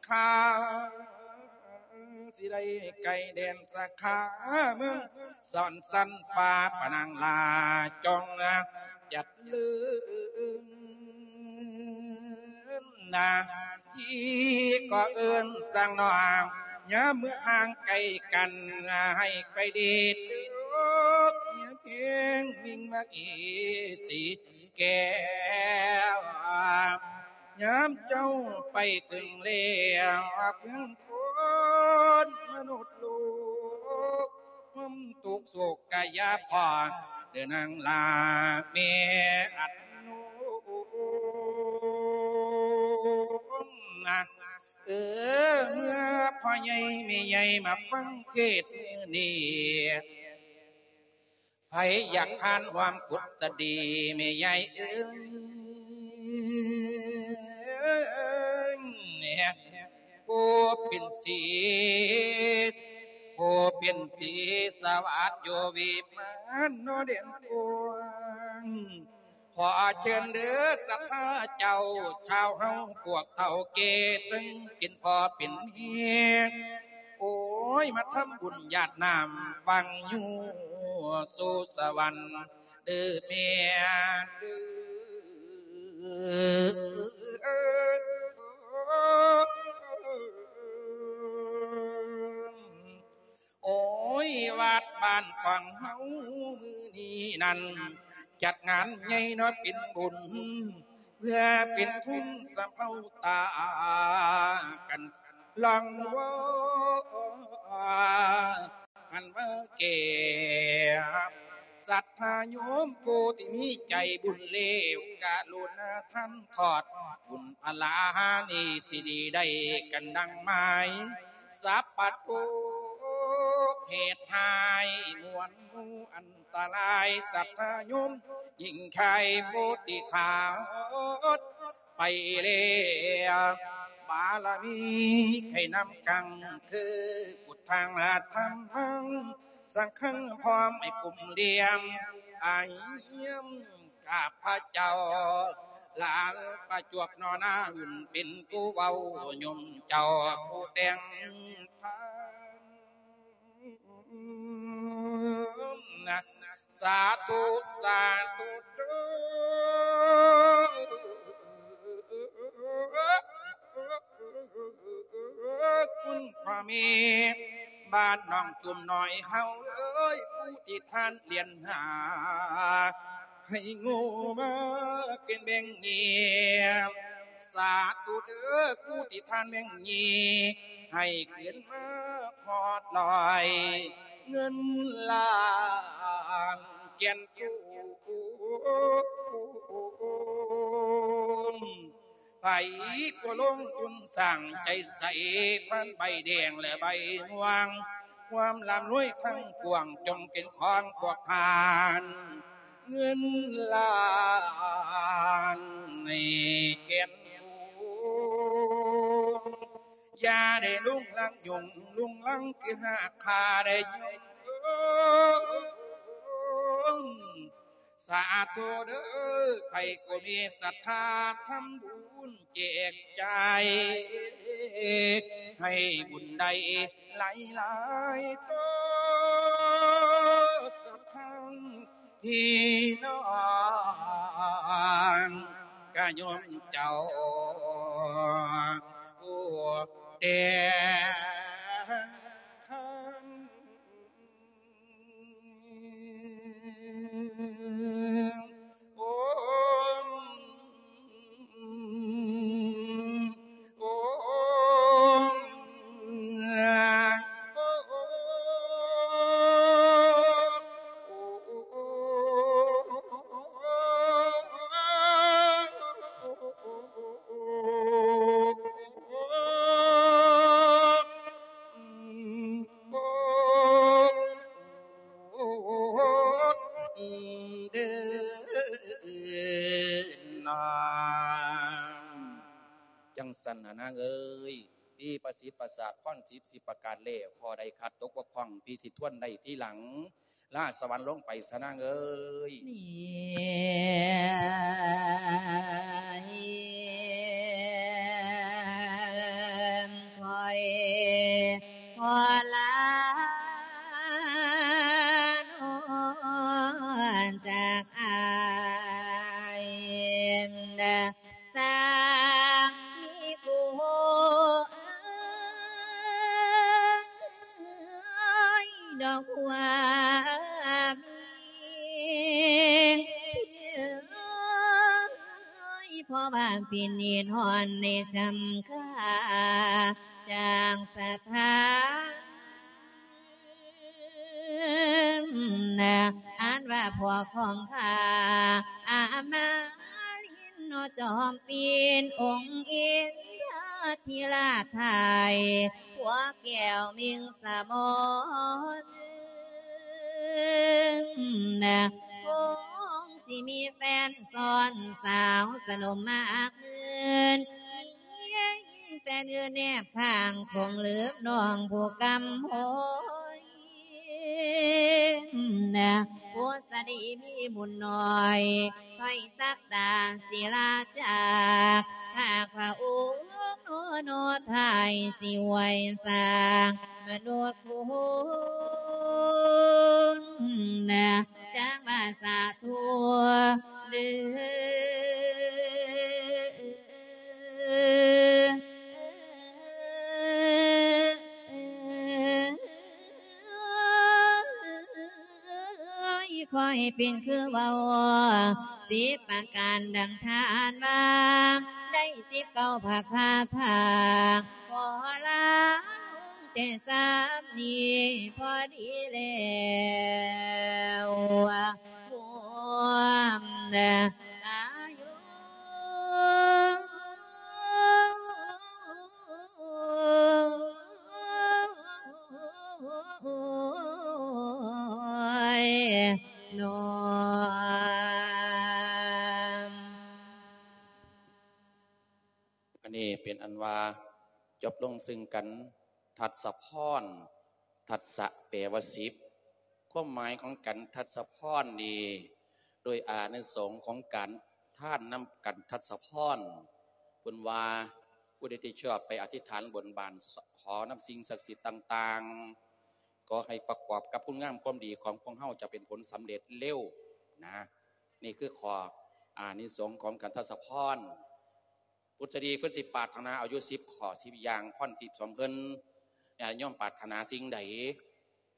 ຂ້າ ຊິໄດ້ໄກແດນສາຂາເມືອງສອນສັນ ຟ້າພະນາງລາ ຈົ່ງຈັດເລີນນາ ທີ່ກໍເອີ້ນສ້າງນ້ອງ ຍາມເມື່ອຫ່າງໄກກັນ ໃຫ້ໄປດີເຕີບ ຍາມແພງມິ່ງມາເອ ສີແກ້ວ ຍາມເຈົ້າໄປເຖິງແລ້ວ ເມືອງຄົນມະນຸດໂລກ ຄວາມທຸກໂສກກະຢ່າພໍ ເດີນາງລາແມ່ອັດໂນມນະ ເອີ ເມື່ອພໍ່ໃຫຍ່ແມ່ໃຫຍ່ມາຟັງເທດມື້ນີ້ ໃຜຢາກທານຮ່ວມກຸດສະດີແມ່ໃຫຍ່ເອີຍ ຜູ້ເປັນສີ ຜູ້ເປັນສີສະຫວັດຢູ່ວິມານເນາະແດນກວ້າງ ຂໍເຊີນເດີສັດທາເຈົ້າ ຊາວເຮົາພວກເຖົ້າແກ່ ເຖິງເປັນພໍ່ເປັນແມ່ ໂອ້ຍ ມາທຳບຸນຢາດນ້ຳວັງຢູ່ສູ່ສະຫວັນເດີແມ່ເດີ. ໂອ້ຍ ວັດບ້ານຂອງເຮົາມື້ນີ້ນັ້ນ ຈັດງານໃຫຍ່ເນາະເປັນບຸນ ເພື່ອເປັນທຶນສຳເພົາຕາກັນລອງວໍ ອັນວ່າແກ່ ສັດທາໂຍມຜູ້ທີ່ມີໃຈບຸນແລ້ວ ກະລຸນາທັນທອດບຸນພະລານີ້ທີ່ດີໄດ້ກັນດັ່ງໝາຍ ສັບປະໂຕກເຫດຮ້າຍມວນໝູ່ອັນຕະລາຍ ສັດທາໂຍມຍິ່ງໃຫຍ່ໂພທິທາດ ໄປແລ້ວ ບາລະມີໄຂນຳກັງ ຄືພຸດທັງ ທຳມັງ ສັງຄັງ ພ້ອມໃຫ້ກຸ່ມລຽມອາຍຽມ ຂ້າພະເຈົ້າ ຫຼານປະຈວບ ນໍນາຫຸ່ນ ເປັນຜູ້ເວົ້າ ໂຍມເຈົ້າຜູ້ແຕ່ງທຳ ສາທຸ ສາທຸເດີ ຄຸນພໍ່ແມ່ບ້ານໜອງຕຸ່ມນ້ອຍເຮົາເອີຍ ຜູ້ທີ່ທ່ານລຽນຫາ ໃຫ້ໂງ່ມາເປັນແບ່ງແງ່ ສາທຸເດີ ຜູ້ທີ່ທ່ານແບ່ງແງ່ ໃຫ້ຂຶ້ນມາຮອດລອຍ ເງິນລ້ານແກ່ນຄູນ ໃຜຜູ້ລົງທຶນສ້າງໃຈໃສ ພັນໃບແດງ ແລະ ໃບມ່ວງ ຄວາມລ່ຳລວຍທັງປວງ ຈົ່ງເປັນຂອງພວກທ່ານ ເງິນລ້ານໃນແກ່ນຄູນ ຢ່າໄດ້ລຸງລັງຍົງ ລຸງລັງຄືຫາກຂ້າໄດ້ຍົງ ສາທຸເດີ ໃຜກໍມີສັດທາທຳບຸນແຈກຈ່າຍ ໃຫ້ບຸນໄດ້ຫຼາຍໆ ຕໍ່ສັດທາພີ່ນ້ອງ ກະໂຍມເຈົ້າຜູ້ແຕ່ງ ໂອມ ໂອມ ຈັ່ງຊັ້ນນະນາງເອີຍ, ມີປະສິດປະສາດພອນສິບສິບປະການແລ້ວ, ຂໍ້ໃດຂາດຕົກບົກຜ່ອງ ພີ່ຊິທວນໄດ້ທີຫຼັງ. ລາສະຫວັນລົງໄປຊະນາງເອີຍ. ນີ້ຂ້ອຍຂໍລານອນຈາກອ້າຍນະ ສາມີກູເອີຍ ດອກຫົວມີງເອີຍ ເພາະວ່າເປັນເຫດຮ້ອນໃນຈຳກາຈາກສະຖານ ອັນວ່າພວກຂອງຂ້າອາມາລິນ ເນາະ ຈອມປີນອົງອິນທາທິລາດໄທ ຜົວແກ້ວມິງສະໝອນ ຄົງຊິມີແຟນຊ້ອນສາວສະໜົມມາກມື່ນ ແຟນຢູ່ແນບຂ້າງຄົງເລີບນ້ອງຜູ້ກຳໂຫຍ ຜູ້ສະດີມີບຸນໜ້ອຍ ໄພສັກດາສິລາຈາກ ຫາກພະອົງໂນໂນໄທ ຊິໄຫວ້ສ້າງມະນຸດຄຸນ ຈັ່ງວ່າສາທຸເດີ. ຂໍໃຫ້ເປັນຄືເວົ້າສິບປະການດັ່ງທ່ານວ່າ ໄດ້ສິບເກົ້າພະຄາຖາ ຂໍລາລົງແຕ່ສ່ຳນີ້ພໍດີແລ້ວ ຮ່ວມກາຍຸ ໂອ້ຍ ນ້ອມ. ອັນນີ້ເປັນອັນວ່າຈົບລົງຊຶ່ງກັນ ທັດສະພອນ ທັດສະແປວ່າສິບ ຄວາມໝາຍຂອງການທັດສະພອນນີ້ ໂດຍອານິສົງຂອງການທານນຳກັນທັດສະພອນ ເພິ່ນວ່າ ຜູ້ໃດທີ່ຊອບໄປອະທິຖານບົນບານ ຂໍນຳສິ່ງສັກສິດຕ່າງໆ ກໍໃຫ້ປະກອບກັບຄຸນງາມຄວາມດີຂອງພວກເຮົາ ຈະເປັນຜົນສຳເລັດເລັວນະ. ນີ້ຄືຂໍ້ອານິສົງຂອງການທັດສະພອນ. ພຸດສະດີເພິ່ນຊິປາດຖະໜາເອົາຢູ່ສິບຂໍ້ສິບຢ່າງ ພອນທິບຂອງເພິ່ນ ຍາດໂຍມປາດຖະໜາສິ່ງໃດ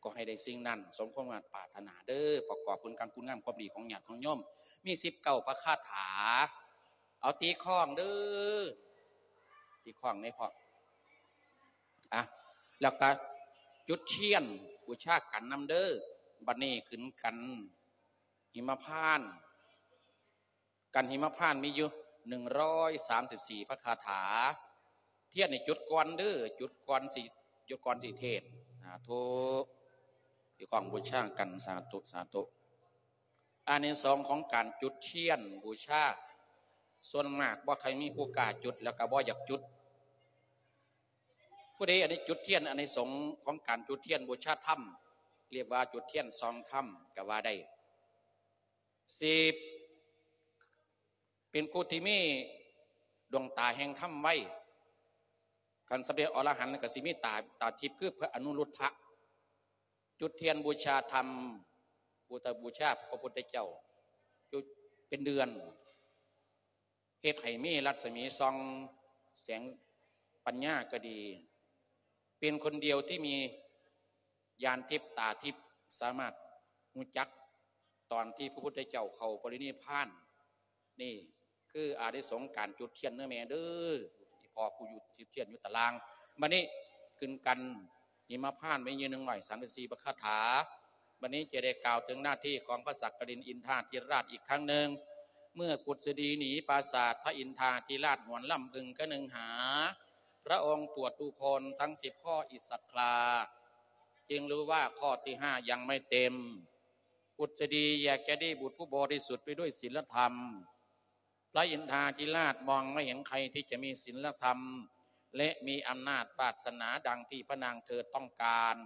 ກໍໃຫ້ໄດ້ສິ່ງນັ້ນ ສົມຄວາມປາດຖະໜາເດີ. ປະກອບຜົນການຄຸນງາມຄວາມດີຂອງຍາດຂອງໂຍມ ມີສິບເກົ້າພະຄາຖາ. ເອົາຕີຄ້ອງເດີ ຕີຄ້ອງໃນພ້ອມ ອ່ະ ແລ້ວກະຈຸດທຽນບູຊາກັນນຳເດີ. ບັດນີ້ຂຶ້ນກັນຫິມະພານ ກັນຫິມະພານມີຢູ່ໜຶ່ງຮ້ອຍສາມສິບສີ່ພະຄາຖາ. ທຽນນີ້ຈຸດກ່ອນເດີ ຈຸດກ່ອນຊິ ຈຸດກ່ອນຊິເທດ. ສາທຸ ທີ່ຂອງບູຊາກັນ ສາທຸ ສາທຸ. ອານິສົງຂອງການຈຸດທຽນບູຊາ ສ່ວນມາກບໍ່ໃຄ່ມີຜູ້ກ້າຈຸດ ແລ້ວກໍບໍ່ຢາກຈຸດ. ຜູ້ໃດອັນນີ້ຈຸດທຽນ ອານິສົງຂອງການຈຸດທຽນບູຊາທຳ ເອີ້ນວ່າຈຸດທຽນສ່ອງທຳກໍວ່າໄດ້. ສິບ ເປັນຜູ້ທີ່ມີດວງຕາແຫ່ງທຳໄວ. ຄັນສຳເລັດອະລະຫັນກໍຊິມີຕາ ຕາທິບ ຄືພະອະນຸລຸດທະ ຈຸດທຽນບູຊາທຳ ບູຊາ ບູຊາພະພຸດທະເຈົ້າ ຢູ່ເປັນເດືອນ ເຮັດໃຫ້ມີລັດສະໝີສ່ອງແສງປັນຍາກໍດີ. ເປັນຄົນດຽວທີ່ມີຍານທິບຕາທິບ ສາມາດຮູ້ຈັກຕອນທີ່ພະພຸດທະເຈົ້າເຂົ້າປະລິນິບພານ. ນີ້ຄືອານິສົງການຈຸດທຽນເດີແມ່ເດີ ອີ່ພໍ່ຜູ້ຢູ່ຈຸດທຽນຢູ່ຕາລ່າງ. ບັດນີ້ຂຶ້ນກັນຫິມະພານມີຢູ່ໜຶ່ງຮ້ອຍສາມສິບສີ່ພະຄາຖາ. ບັດນີ້ຈະໄດ້ກ່າວເຖິງໜ້າທີ່ຂອງພະສັກກະລິນອິນທາທິລາດອີກຄັ້ງໜຶ່ງ. ເມື່ອພຸດສະດີໜີປາສາດ ພະອິນທາທິລາດຫວນລຳເພິ່ງຄະນຶງຫາ ພະອົງທວດທຸກຄົນທັງສິບຂໍ້ອີກສັກຄາ ຈຶ່ງຮູ້ວ່າຂໍ້ທີຫ້າຍັງໄມ່ເຕັມ. ພຸດສະດີຢາກຈະໄດ້ບຸດຜູ້ບໍລິສຸດໄປດ້ວຍສິນລະທຳ. ພະອິນທາທິລາດມອງບໍ່ເຫັນໃຄທີ່ຈະມີສິນລະທຳ ແລະ ມີອຳນາດວາດສະໜາດັ່ງທີ່ພະນາງເທີຕ້ອງການ.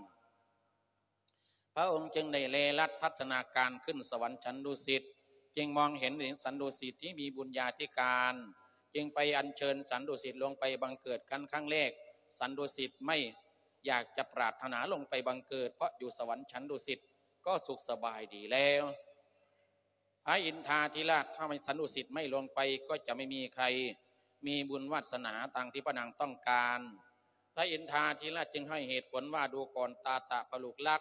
ພະອົງຈຶ່ງໄດ້ແລລັດທັດສະນາການຂຶ້ນສະຫວັນສັນດຸສິດ, ຈຶ່ງມອງເຫັນສັນດຸສິດທີ່ມີບຸນຍາທິການ, ຈຶ່ງໄປອັນເຊີນສັນດຸສິດລົງໄປບັງເກີດກັນຄັ້ງແລກ. ສັນດຸສິດໄມ່ຢາກຈະປາດຖະໜາລົງໄປບັງເກີດ, ເພາະຢູ່ສະຫວັນສັນດຸສິດກໍສຸກສະບາຍດີແລ້ວ. ພະອິນທາທິລາດ ຖ້າສັນດຸສິດໄມ່ລົງໄປ ກໍຈະໄມ່ມີໃຄມີບຸນວາດສະໜາຕາມທີ່ພະນາງຕ້ອງການ. ພະອິນທາທິລາດຈຶ່ງໃຫ້ເຫດຜົນວ່າ, ດູກ່ອນຕາຕະພະລູກລັກ,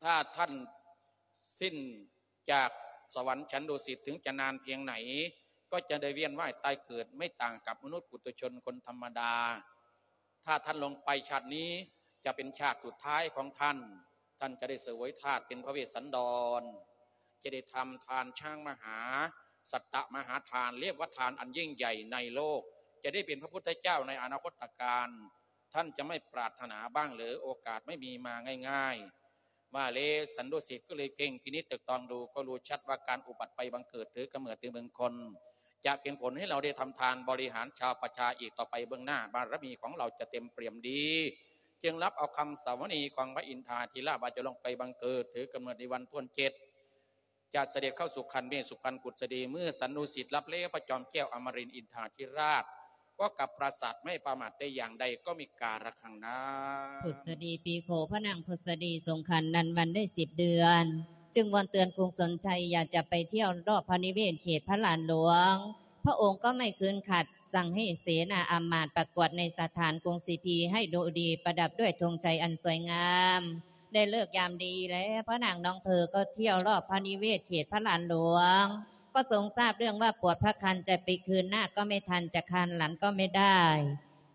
ຖ້າທ່ານສິ້ນຈາກສະຫວັນສັນດຸສິດ ເຖິງຈະນານພຽງໃດ ກໍຈະໄດ້ວຽນວ່າຍຕາຍເກີດ ໄມ່ຕ່າງກັບມະນຸດປຸຖຸຊົນຄົນທຳມະດາ. ຖ້າທ່ານລົງໄປ, ຊາດນີ້ຈະເປັນຊາດສຸດທ້າຍຂອງທ່ານ. ທ່ານຈະໄດ້ສະຫວຍທາດເປັນພະເວດສັນດອນ, ຈະໄດ້ທຳທານຊ້າງມະຫາ, ສັດຕະມະຫາທານ, ເລວະທານອັນຍິ່ງໃຫຍ່ໃນໂລກ, ຈະໄດ້ເປັນພະພຸດທະເຈົ້າໃນອະນາຄົດຕະການ. ທ່ານຈະໄມ່ປາດຖະໜາບ້າງເຫຼືອ? ໂອກາດໄມ່ມີມາງ່າຍໆ. ວ່າແລ້ວ ສັນດຸສິດກໍເລີຍເພັ່ງພິນິດຕຶກຕອງດູ, ກໍຮູ້ຊັດວ່າການອຸບັດໄປບັງເກີດ ຖືກຳເນີດໃນເມືອງຄົນ ຈະເປັນຜົນໃຫ້ເຮົາໄດ້ທຳທານບໍລິຫານຊາວປະຊາອີກຕໍ່ໄປເບື້ອງໜ້າ, ບາລະມີຂອງເຮົາຈະເຕັມປ່ຽມດີ. ຈຶ່ງຮັບເອົາຄຳສາວະນີຂອງພະອິນທາທິລາດວ່າຈະລົງໄປບັງເກີດ ຖືກຳເນີດໃນວັນທວນເຈັດ, ຈະສະເດັດເຂົ້າສູ່ຄັນເມດ ສູ່ຄັນກຸດສະດີ. ເມື່ອສັນດຸສິດຫຼັບແລ້ວ, ພະຈອມແກ້ວອະມະລິນອິນທາທິລາດກໍກັບປາສາດ ໄມ່ປະໝາດແຕ່ຢ່າງໃດ, ກໍມີກາລະຄັງນານ. ພຸດສະດີປີໂຂ, ພະນາງພຸດສະດີສົງຄັນນັນວັນໄດ້ສິບເດືອນ, ຈຶ່ງວອນເຕືອນກຸງສົນໄຊ ຢາກຈະໄປທ່ຽວລອບພະນິເວດເຂດພະລານຫຼວງ. ພະອົງກໍໄມ່ຂຶງຂັດ, ສັ່ງໃຫ້ເສນາອາມາດປະກວດໃນສະຖານກຸງສີພີໃຫ້ດູດີ, ປະດັບດ້ວຍທງໄຊອັນສວຍງາມ. ໄດ້ເລີກຍາມດີແລ້ວ, ພະນາງນ້ອງເທີກໍທ່ຽວລອບພະນິເວດເຂດພະລານຫຼວງ. ກໍຊົງຊາບເລື່ອງວ່າປວດພະຄັນຈະໄປຄືນໜ້າກໍໄມ່ທັນ, ຈະຄານຫຼັງກໍໄມ່ໄດ້.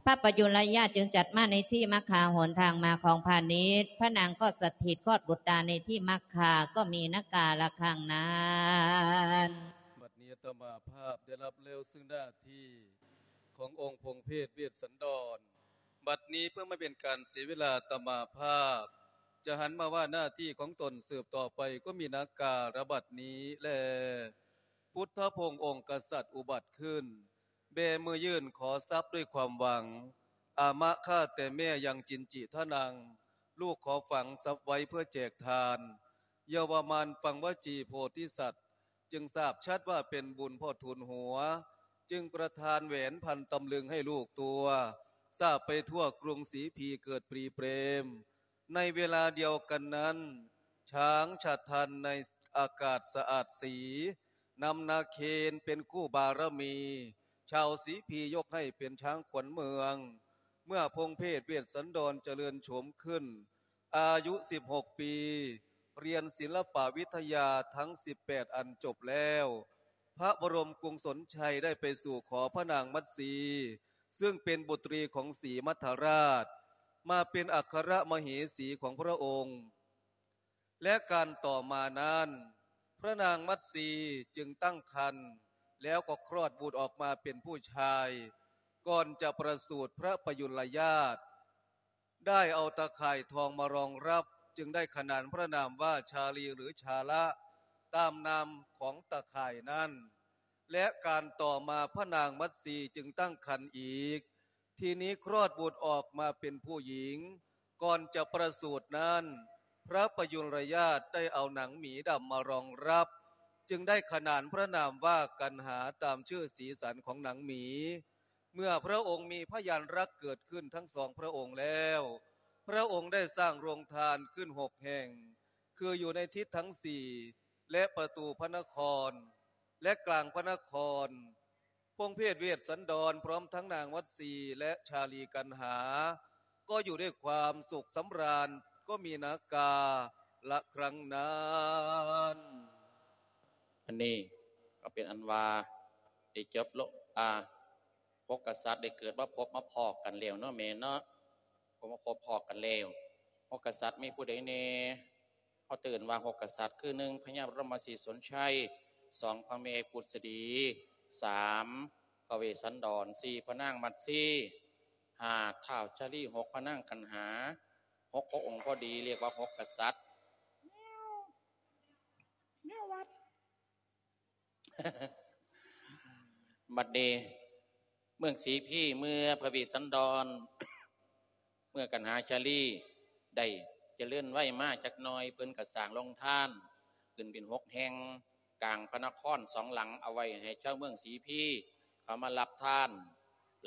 ພະປະຍຸນລະຍາດຈຶ່ງຈັດມາໃນທີ່ມັກຄາຫົນທາງມາຂອງພານິດ, ພະນາງກໍສະຖິດຄອດບຸດຕາໃນທີ່ມັກຄາ, ກໍມີນະກາລະຄັງນານ. ບັດນີ້ອາດຕະມາພາບໄດ້ຮັບແລ້ວເຊິ່ງໜ້າທີ່ຂອງອົງພົງເພດເວດສັນດອນ. ບັດນີ້ເພື່ອບໍ່ເປັນການເສຍເວລາ, ອາດຕະມາພາບຈະຫັນມາວ່າໜ້າທີ່ຂອງຕົນສືບຕໍ່ໄປ, ກໍມີນະກາລະບັດນີ້ແລ. ພຸດທະພົງອົງກະສັດອຸບັດຂຶ້ນ, ແບມືຍື່ນຂໍຊັບດ້ວຍຄວາມຫວັງ. ອາມະຂ້າແຕ່ແມ່ຍັງຈິນຈິທະນັງ, ລູກຂໍຝັງຊັບໄວ້ເພື່ອແຈກທານ. ເຍົາວະມານຟັງວະຈີໂພທິສັດ, ຈຶ່ງຊາບຊັດວ່າເປັນບຸນເພາະທູນຫົວ, ຈຶ່ງປະທານແຫວນພັນຕຳລຶງໃຫ້ລູກຕົວ, ຊາບໄປທົ່ວກຸງສີພີເກີດປຣີເປຣມ. ໃນເວລາດຽວກັນນັ້ນ, ຊ້າງຊາດທັນໃນອາກາດສະອາດສີ, ນຳນາເຄນເປັນຄູ່ບາລະມີ, ຊາວສີພີຍົກໃຫ້ເປັນຊ້າງຂວັນເມືອງ. ເມື່ອພົງເພດເວດສັນດອນຈະເລີນໂສມຂຶ້ນ, ອາຍຸສິບຫົກປີ, ຮຽນສິນລະປະວິທະຍາທັງສິບແປດອັນຈົບແລ້ວ, ພະບໍລົມກຸງສົນໄຊໄດ້ໄປສູ່ຂໍພະນາງມັດສີ, ເຊິ່ງເປັນບຸດຕີຂອງສີມັດທະລາດ, ມາເປັນອັກຄະລະມະເຫສີຂອງພະອົງ. ແລະ ການຕໍ່ມານັ້ນ, ພະນາງມັດສີຈຶ່ງຕັ້ງຄັນ ແລ້ວກໍຄລອດບຸດອອກມາເປັນຜູ້ຊາຍ. ກ່ອນຈະປະສູດ, ພະປະຍຸນລະຍາດ ໄດ້ເອົາຕາຂ່າຍທອງມາລອງຮັບ, ຈຶ່ງໄດ້ຂະໜານພະນາມວ່າຊາລີ ຫຼື ຊາລະ ຕາມນາມຂອງຕາຂ່າຍນັ້ນ. ແລະ ການຕໍ່ມາພະນາງມັດສີຈຶ່ງຕັ້ງຄັນອີກ. ທີນີ້ຄລອດບຸດອອກມາເປັນຜູ້ຍິງ. ກ່ອນຈະປະສູດນັ້ນ, ພະປະຍຸນລະຍາດໄດ້ເອົາໜັງໝີດຳມາລອງຮັບ, ຈຶ່ງໄດ້ຂະໜານພະນາມວ່າກັນຫາ ຕາມຊື່ສີສັນຂອງໜັງໝີ. ເມື່ອພະອົງມີພະຍານລັກເກີດຂຶ້ນທັງສອງພະອົງແລ້ວ, ພະອົງໄດ້ສ້າງໂຮງທານຂຶ້ນຫົກແຫ່ງ, ຄືຢູ່ໃນທິດທັງສີ່ ແລະ ປະຕູພະນະຄອນ ແລະ ກາງພະນະຄອນ. ພົງເພດເວດສັນດອນ ພ້ອມທັງນາງວັດສີ ແລະ ຊາລີກັນຫາ ກໍຢູ່ດ້ວຍຄວາມສຸກສຳລານ, ກໍມີນາກາລະຄັ້ງນັ້ນ. ອັນນີ້ກໍເປັນອັນວ່າໄດ້ຈົບລົງ, ອ່າ, ຫົກກະສັດໄດ້ເກີດມາພົບມາພໍ້ກັນແລ້ວເນາະແມ່ເນາະ, ກໍມາພົບພໍ້ກັນແລ້ວ. ຫົກກະສັດມີຜູ້ໃດແດ່? ເຮົາຕື່ມວ່າຫົກກະສັດຄື ໜຶ່ງ ພະຍາບໍລົມມະສີສົນໄຊ, ສອງ ພະແມ່ພຸດສະດີ, ສາມ ພະເວດສັນດອນ, ສີ່ ພະນາງມັດສີ, ຫ້າ ທ້າວຊາລີ, ຫົກ ພະນາງກັນຫາ. ຫົກພະອົງພໍດີ ຮຽກວ່າຫົກກະສັດ. ແນວວັດ. ບັດນີ້ເມືອງສີພີ ເມື່ອພະເວດສັນດອນ ເມື່ອກັນຫາຊາລີ ໄດ້ຈະເລີນໄວມາຈັກໜ່ອຍ ເພິ່ນກໍສ້າງໂຮງທານຂຶ້ນເປັນຫົກແຫ່ງ ກາງພະນະຄອນສອງຫຼັງ ເອົາໄວ້ໃຫ້ຊາວເມືອງສີພີເຂົ້າມາຮັບທານ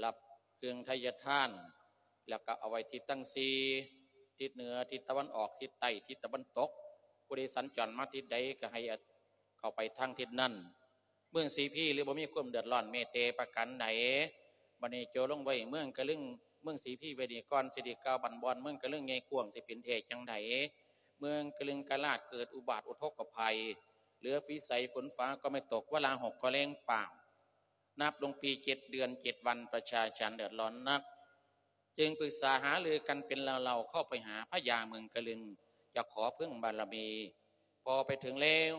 ຮັບເຄື່ອງໄທຍະທານ ແລ້ວກໍເອົາໄວ້ທິດທັງສີ່ ທິດເໜືອ ທິດຕາເວັນອອກ ທິດໃຕ້ ທິດຕາເວັນຕົກ ຜູ້ໃດສັນຈອນມາທິດໃດກໍໃຫ້ເຂົ້າໄປທາງທິດນັ້ນ. ເມືອງສີພີເລີຍບໍ່ມີຄວາມເດືອດຮ້ອນແມ້ແຕ່ປະການໃດ. ບັດນີ້ໂຈະລົງໄວ້ເມືອງກະລຶງ ເມືອງສີພີໄວ້ນີ້ກ່ອນ ຊິໄດ້ກ່າວບັ້ນບ່ອນເມືອງກະລຶງໃຫຍ່ກວ້າງຊິເປັນແທ້ຈັ່ງໃດ. ເມືອງກະລຶງກະລາດເກີດອຸບາດອຸທົກກະໄພ ເຫຼືອວິໄສຝົນຟ້າກໍໄມ່ຕົກ ເວລາຫົກກໍແລ້ງປາວ ນັບລົງປີເຈັດເດືອນເຈັດວັນ ປະຊາຊົນເດືອດຮ້ອນໜັກ ຈຶ່ງປຶກສາຫາລືກັນເປັນເຫຼົ່າໆ ເຂົ້າໄປຫາພະຍາເມືອງກະລຶງ ຈະຂໍເພິ່ງບາລະມີ. ພໍໄປເຖິງແລ້ວ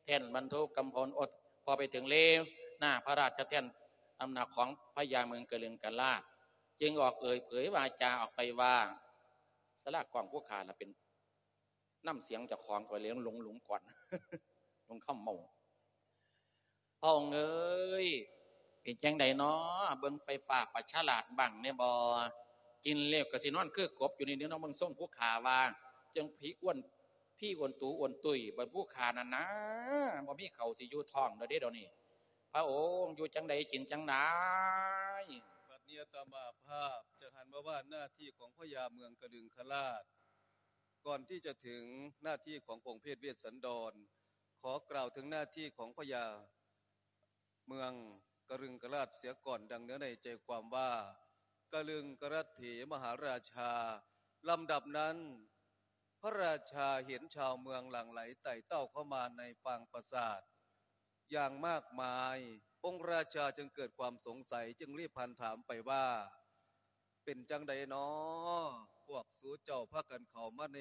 ແທ່ນບັນທຸກຳພົນ ໂອ ພໍໄປເຖິງແລ້ວ ໜ້າພະລາຊະແທ່ນອຳນາດຂອງພະຍາເມືອງກະລຶງກະລາດ ຈຶ່ງອອກເອີ່ຍເຜີຍວາຈາອອກໄປວ່າ ສາລາກອງຜູ້ຂ້າລະເປັນ ນຳສຽງເຈົ້າຂອງຂ້ອຍເລີຍຫຼົງໆກ່ອນ ຫຼົງຄຳເວົ້າ. ພະອົງເອີຍ ເປັນຈັ່ງໃດນໍ ເບິ່ງໄຟຟ້າປະຊາລາດບ້າງແດ່ບໍ? ກິນແລ້ວກໍຊິນອນຄືກົບຢູ່ນີ້ເນາະ ເບິ່ງຊົງຜູ້ຂ້າວ່າ ຈັ່ງຜີອ້ວນ ຜີອ້ວນຕູອ້ວນຕຸ້ຍ ບັດຜູ້ຂ້ານັ້ນນາ ບໍ່ມີເຂົ້າຊິຢູ່ທ້ອງແລ້ວເດ້ດຽວນີ້. ພະອົງຢູ່ຈັ່ງໃດ ກິນຈັ່ງໃດ? ບັດນີ້ອາດຕະມາພາບຈະຫັນມາວ່າໜ້າທີ່ຂອງພະຍາເມືອງກະດຶງຄະລາດ ກ່ອນທີ່ຈະເຖິງໜ້າທີ່ຂອງພະອົງເພດເວດສັນດອນ ຂໍກ່າວເຖິງໜ້າທີ່ຂອງພະຍາເມືອງກະລຶງກະລາດເສຍກ່ອນ ດັ່ງເນື້ອໃນໃຈຄວາມວ່າ ກະລຶງກະລັດເຖມະຫາລາຊາ. ລຳດັບນັ້ນ ພະລາຊາເຫັນຊາວເມືອງຫຼັ່ງໄຫຼໄຕ່ເຕົ້າເຂົ້າມາໃນປາງປາສາດຢ່າງມາກມາຍ, ອົງລາຊາຈຶ່ງເກີດຄວາມສົງໄສ ຈຶ່ງລີບຫັນຖາມໄປວ່າ ເປັນຈັ່ງໃດນໍ ພວກສູເຈົ້າພາກັນເຂົ້າມາໃນ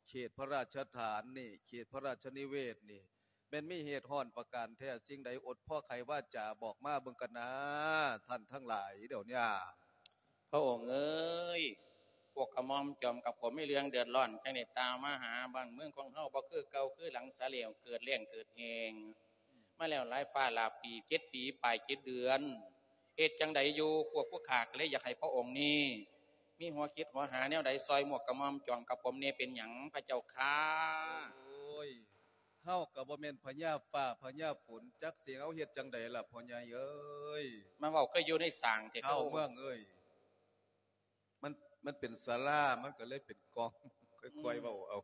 ເຂດພະລາຊະຖານນີ້ ເຂດພະລາຊະນິເວດນີ້ ແມ່ນມີເຫດຮ້ອນປະການແທ້ສິ່ງໃດ? ອົດພໍໄຂວາຈາບອກມາເບິ່ງກັນນາ ທ່ານທັງຫຼາຍດຽວນີ້. ພະອົງເອີຍ ພວກກະໝ່ອມຈອມກັບຜົມມີເລື່ອງເດືອດຮ້ອນ ຈັ່ງໄດ້ຕາມມາຫາບ້ານເມືອງຂອງເຮົາ ບໍ່ຄືເກົ່າຄືຫຼັງສາແລ້ວ ເກີດແລ້ງເກີດແຫ້ງ ມາແລ້ວຫຼາຍຟ້າຫຼາຍປີ ເຈັດປີປາຍເຈັດເດືອນ ເຮັດຈັ່ງໃດຢູ່? ພວກຜູ້ຂ້າກໍເລີຍຢາກໃຫ້ພະອົງນີ້ ມີຫົວຄິດຫົວຫາແນວໃດຊ່ອຍໝວກກະໝ່ອມຈອມກັບຜົມແດ່ ເປັນຫຍັງພະເຈົ້າຂ້າ? ໂອ້ຍ ເຮົາກໍບໍ່ແມ່ນພະຍາຟ້າພະຍາຝົນ ຈັກຊິເຮົາເຮັດຈັ່ງໃດລະພໍ່ໃຫຍ່ເອີຍ? ມາເວົ້າຄືຢູ່ໃນສ້າງແທ້ ເຮົາເມືອງເອີຍ. ມັນ ມັນເປັນສາລາ ມັນກໍເລີຍເປັນກ່ອງ ຄ່ອຍໆເວົ້າເອົາ.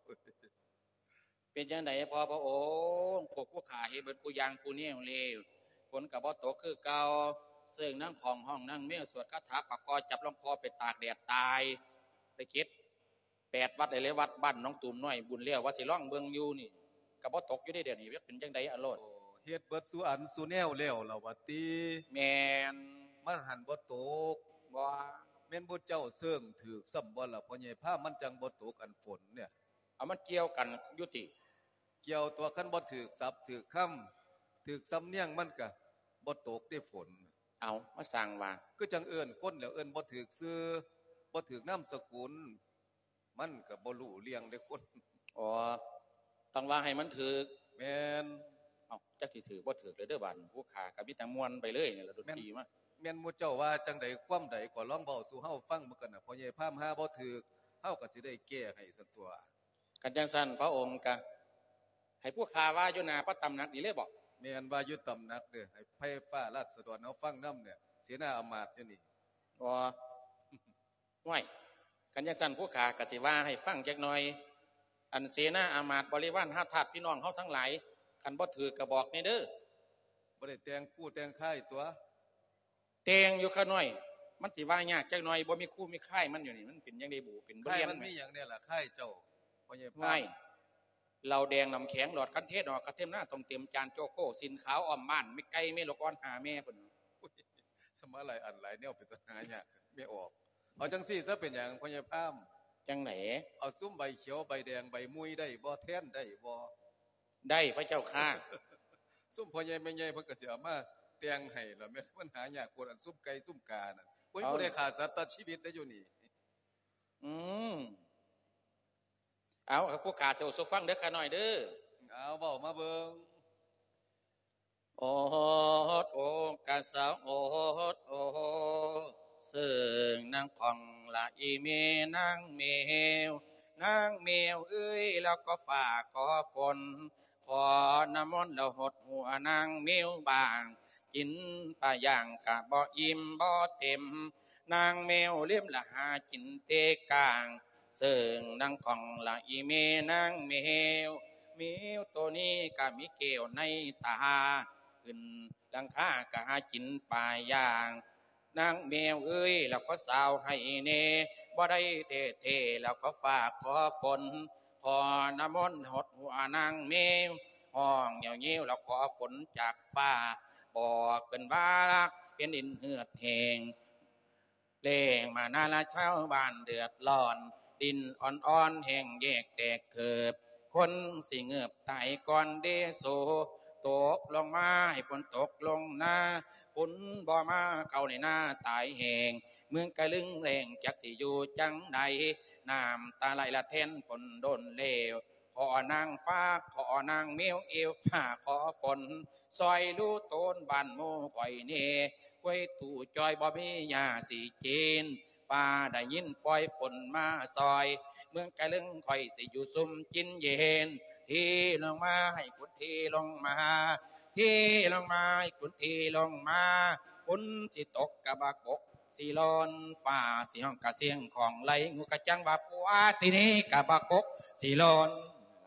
ເປັນຈັ່ງໃດພໍ່ພະອົງ? ພວກຜູ້ຂ້າເຮັດເບິດຄູ່ຢ່າງຄູ່ແນວແລ້ວ ຝົນກໍບໍ່ຕົກຄືເກົ່າ ເຊິ່ງນາງຂອງຫ້ອງນາງແມວສວດຄາຖາປາກຄໍ ຈັບລອງຄໍໄປຕາກແດດຕາຍ ໄປເກັດແປດວັດ ໄດ້ເລີຍ ວັດບ້ານໜອງຕູມນ້ອຍ ບຸນແລ້ວ ວ່າຊິລອງເບິ່ງຢູ່ນີ້ ກໍບໍ່ຕົກຢູ່ເດ້ ດຽວນີ້ເປັນຈັ່ງໃດອະໂລດ? ໂອ້ ເຮັດເບິດສູ່ອັນສູ່ແນວແລ້ວລະຫວາຕິ? ແມ່ນ. ມັນຫັ້ນບໍ່ຕົກ? ບໍ່. ແມ່ນໝູ່ເຈົ້າເຊິ່ງຖືກຊ້ຳບໍ່ລະພໍ່ໃຫຍ່ພາມ ມັນຈັ່ງບໍ່ຕົກອັນຝົນເນຍ? ເອົາ ມັນກ່ຽວກັນຢູ່ຕິ? ກ່ຽວຕົວະ ຄັນບໍ່ຖືກສັບຖືກຄຳ ຖືກສຳນຽງ ມັນກະບໍ່ຕົກເດ້ຝົນ. ເອົາ ມາສ້າງວ່າ ຄືຈັ່ງເອີ້ນຄົນແລ້ວ ເອີ້ນບໍ່ຖືກຊື່ ບໍ່ຖືກນາມສະກຸນ ມັນກໍບໍ່ຮູ້ເລື່ອງເດ້ຄົນ. ອໍ ຕ້ອງວ່າໃຫ້ມັນຖືກ. ແມ່ນ. ເອົ້າ ຈັກຊິຖືກບໍ່ຖືກແລ້ວເດີ ບາດຜູ້ຂ້າກໍມີແຕ່ມ່ວນໄປເລີຍນີ້ລະ ດົນຕີມາ. ແມ່ນໝູ່ເຈົ້າວ່າຈັ່ງໃດ ຄວາມໃດກໍລອງເວົ້າສູ່ເຮົາຟັງເບິ່ງກັນນະ ພໍ່ໃຫຍ່ພາມ ຫາບໍ່ຖືກ ເຮົາກໍຊິໄດ້ແກ້ໃຫ້ຊັ້ນຕົວະ. ຄັນຈັ່ງຊັ້ນ ພະອົງກະໃຫ້ຜູ້ຂ້າວ່າຢູ່ໜ້າພະຕຳໜັກນີ້ເລີຍບໍ? ແມ່ນ ວ່າຢູ່ຕຳໜັກເດີ ໃຫ້ໄພຟ້າລາຊະດອນເຮົາຟັງນຳເນຍ ເສນາອາມາດຢູ່ນີ້. ອໍ ຫ້ວຍ ຄັນຈັ່ງຊັ້ນ ຜູ້ຂ້າກໍຊິວ່າໃຫ້ຟັງຈັກໜ່ອຍ ອັນເສນາອາມາດບໍລິວານຮາດທາດພີ່ນ້ອງເຮົາທັງຫຼາຍ ຄັນບໍ່ຖືກກໍບອກແດ່ເດີ. ບໍ່ໄດ້ແຕ່ງຄູ່ແຕ່ງຄ້າຍຕົວະ? ແຕ່ງຢູ່ຂ້ານ້ອຍ ມັນຊິວ່າຍາກຈັກໜ່ອຍ ບໍ່ມີຄູ່ມີຄ້າຍມັນຢູ່ນີ້ ມັນເປັນຈັ່ງໃດບູ ເປັນບໍລິວານ. ຄ້າຍມັນມີຫຍັງແດ່ລະ ຄ້າຍເຈົ້າ ພໍ່ໃຫຍ່ພາມ? ເຫຼົ້າແດງ ນ້ຳແຂງ ຫຼອດຄັນເທດອອກ ກະເທີມນາ ຕ້ອງເຕັມຈານ ໂຈໂກ້ ຊີ້ນຂາວ ອ້ອມບ້ານ ມີໄກ່ ມີລູກອ່ອນຫ້າແມ່ພຸ້ນ. ໂອ້ຍ ສະມາຫຼາຍອັນຫຼາຍແນວ ເປັນຕາຫາຍາກແມ່ອອກ. ເອົາຈັ່ງຊີ້ຊະ ເປັນຫຍັງພໍ່ໃຫຍ່ພາມ? ຈັ່ງໃດ? ເອົາຊຸມໃບຂຽວໃບແດງໃບມຸ້ຍໄດ້ບໍ່ ແທນໄດ້ບໍ່? ໄດ້ພະເຈົ້າຂ້າ. ຊຸມພໍ່ໃຫຍ່ແມ່ໃຫຍ່ເພິ່ນກໍຊິເອົາມາແຕ່ງໃຫ້ລະແມ່ນ ມັນຫາຍາກໂພດ ອັນຊຸມໄກ່ຊຸມການັ້ນ ບໍ່ມີຜູ້ໃດຂ້າສັດຕັດຊີວິດໄດ້ຢູ່ນີ້. ອືມ ເອົາ ຜູ້ຂ້າຊິເວົ້າສູ່ຟັງເດີຂ້ານ້ອຍເດີ. ເອົາ ເວົ້າມາເບິ່ງ. ໂອດໂອກະສະໂອດໂອ ເຊິ່ງນາງຂອງລະອີເມນາງແມວ, ນາງແມວເອີຍ ລາວກໍຟ້າຂໍຝົນ, ຂໍນ້ຳມົນແລ້ວຫົດຫົວນາງແມວບ້າງ, ກິນປາຍ່າງກະບໍ່ອີ່ມບໍ່ເຕັມ, ນາງແມວເລັມລະຫາກິນແຕ່ກ້າງ. ເຊິ່ງນາງຂອງລະອີເມນາງແມວ, ແມວໂຕນີ້ກະມີແກ້ວໃນຕາ, ຂຶ້ນຫຼັງຄາກະຫາກິນປາຍ່າງ. ນາງແມວເອີຍ ລາວກໍສາວໃຫ້ແດ່, ບໍ່ໄດ້ແທ້ໆ ລາວກໍຟ້າຂໍຝົນ, ຂໍນ້ຳມົນຫົດຫົວນາງແມວ, ຮ້ອງແຫວວໆ ລາວຂໍຝົນຈາກຟ້າ, ບອກເພິ່ນວ່າເປັນດິນເຫືອດແຫ້ງ. ແລ້ງມານາລະຊາວບ້ານເດືອດຮ້ອນ, ດິນອ່ອນໆແຫ້ງແຍກແຕກເກີບ, ຄົນຊິເງີບຕາຍກ່ອນເດໂສ, ຕົກລົງມາໃຫ້ຝົນຕົກລົງນາ, ຝົນບໍ່ມາເຂົ້າໃນນາຕາຍແຫ້ງ, ເມືອງກະລຶງແລ້ງຈັກຊິຢູ່ຈັ່ງໃດ, ນ້ຳຕາໄຫຼລະແທນຝົນດົນແລ້ວ. ຂໍນາງຟ້າ ຂໍນາງແມວເອວຟ້າ ຂໍຝົນຊ່ອຍລູໂຕນບ້ານໝູ່ຂ້ອຍແດ່, ຄວາຍຕູ້ຈ່ອຍບໍ່ມີຫຍ້າຊິກິນ, ຟ້າໄດ້ຍິນປ່ອຍຝົນມາຊ່ອຍ, ເມືອງກະລຶງຂ້ອຍຊິຢູ່ຊຸ່ມຈິນເຢັນ, ເທລົງມາໃຫ້ຝົນເທລົງມາ, ເທລົງມາໃຫ້ຝົນເທລົງມາ, ຝົນຊິຕົກກະບັກບົກ ຊິຫຼອນ, ຟ້າຊິຮ້ອງກະສຽງຂອງໄຫຼງູ, ກະຈັ່ງວ່າຜົວຊິໜີກະບັກບົກຊິຫຼອນ.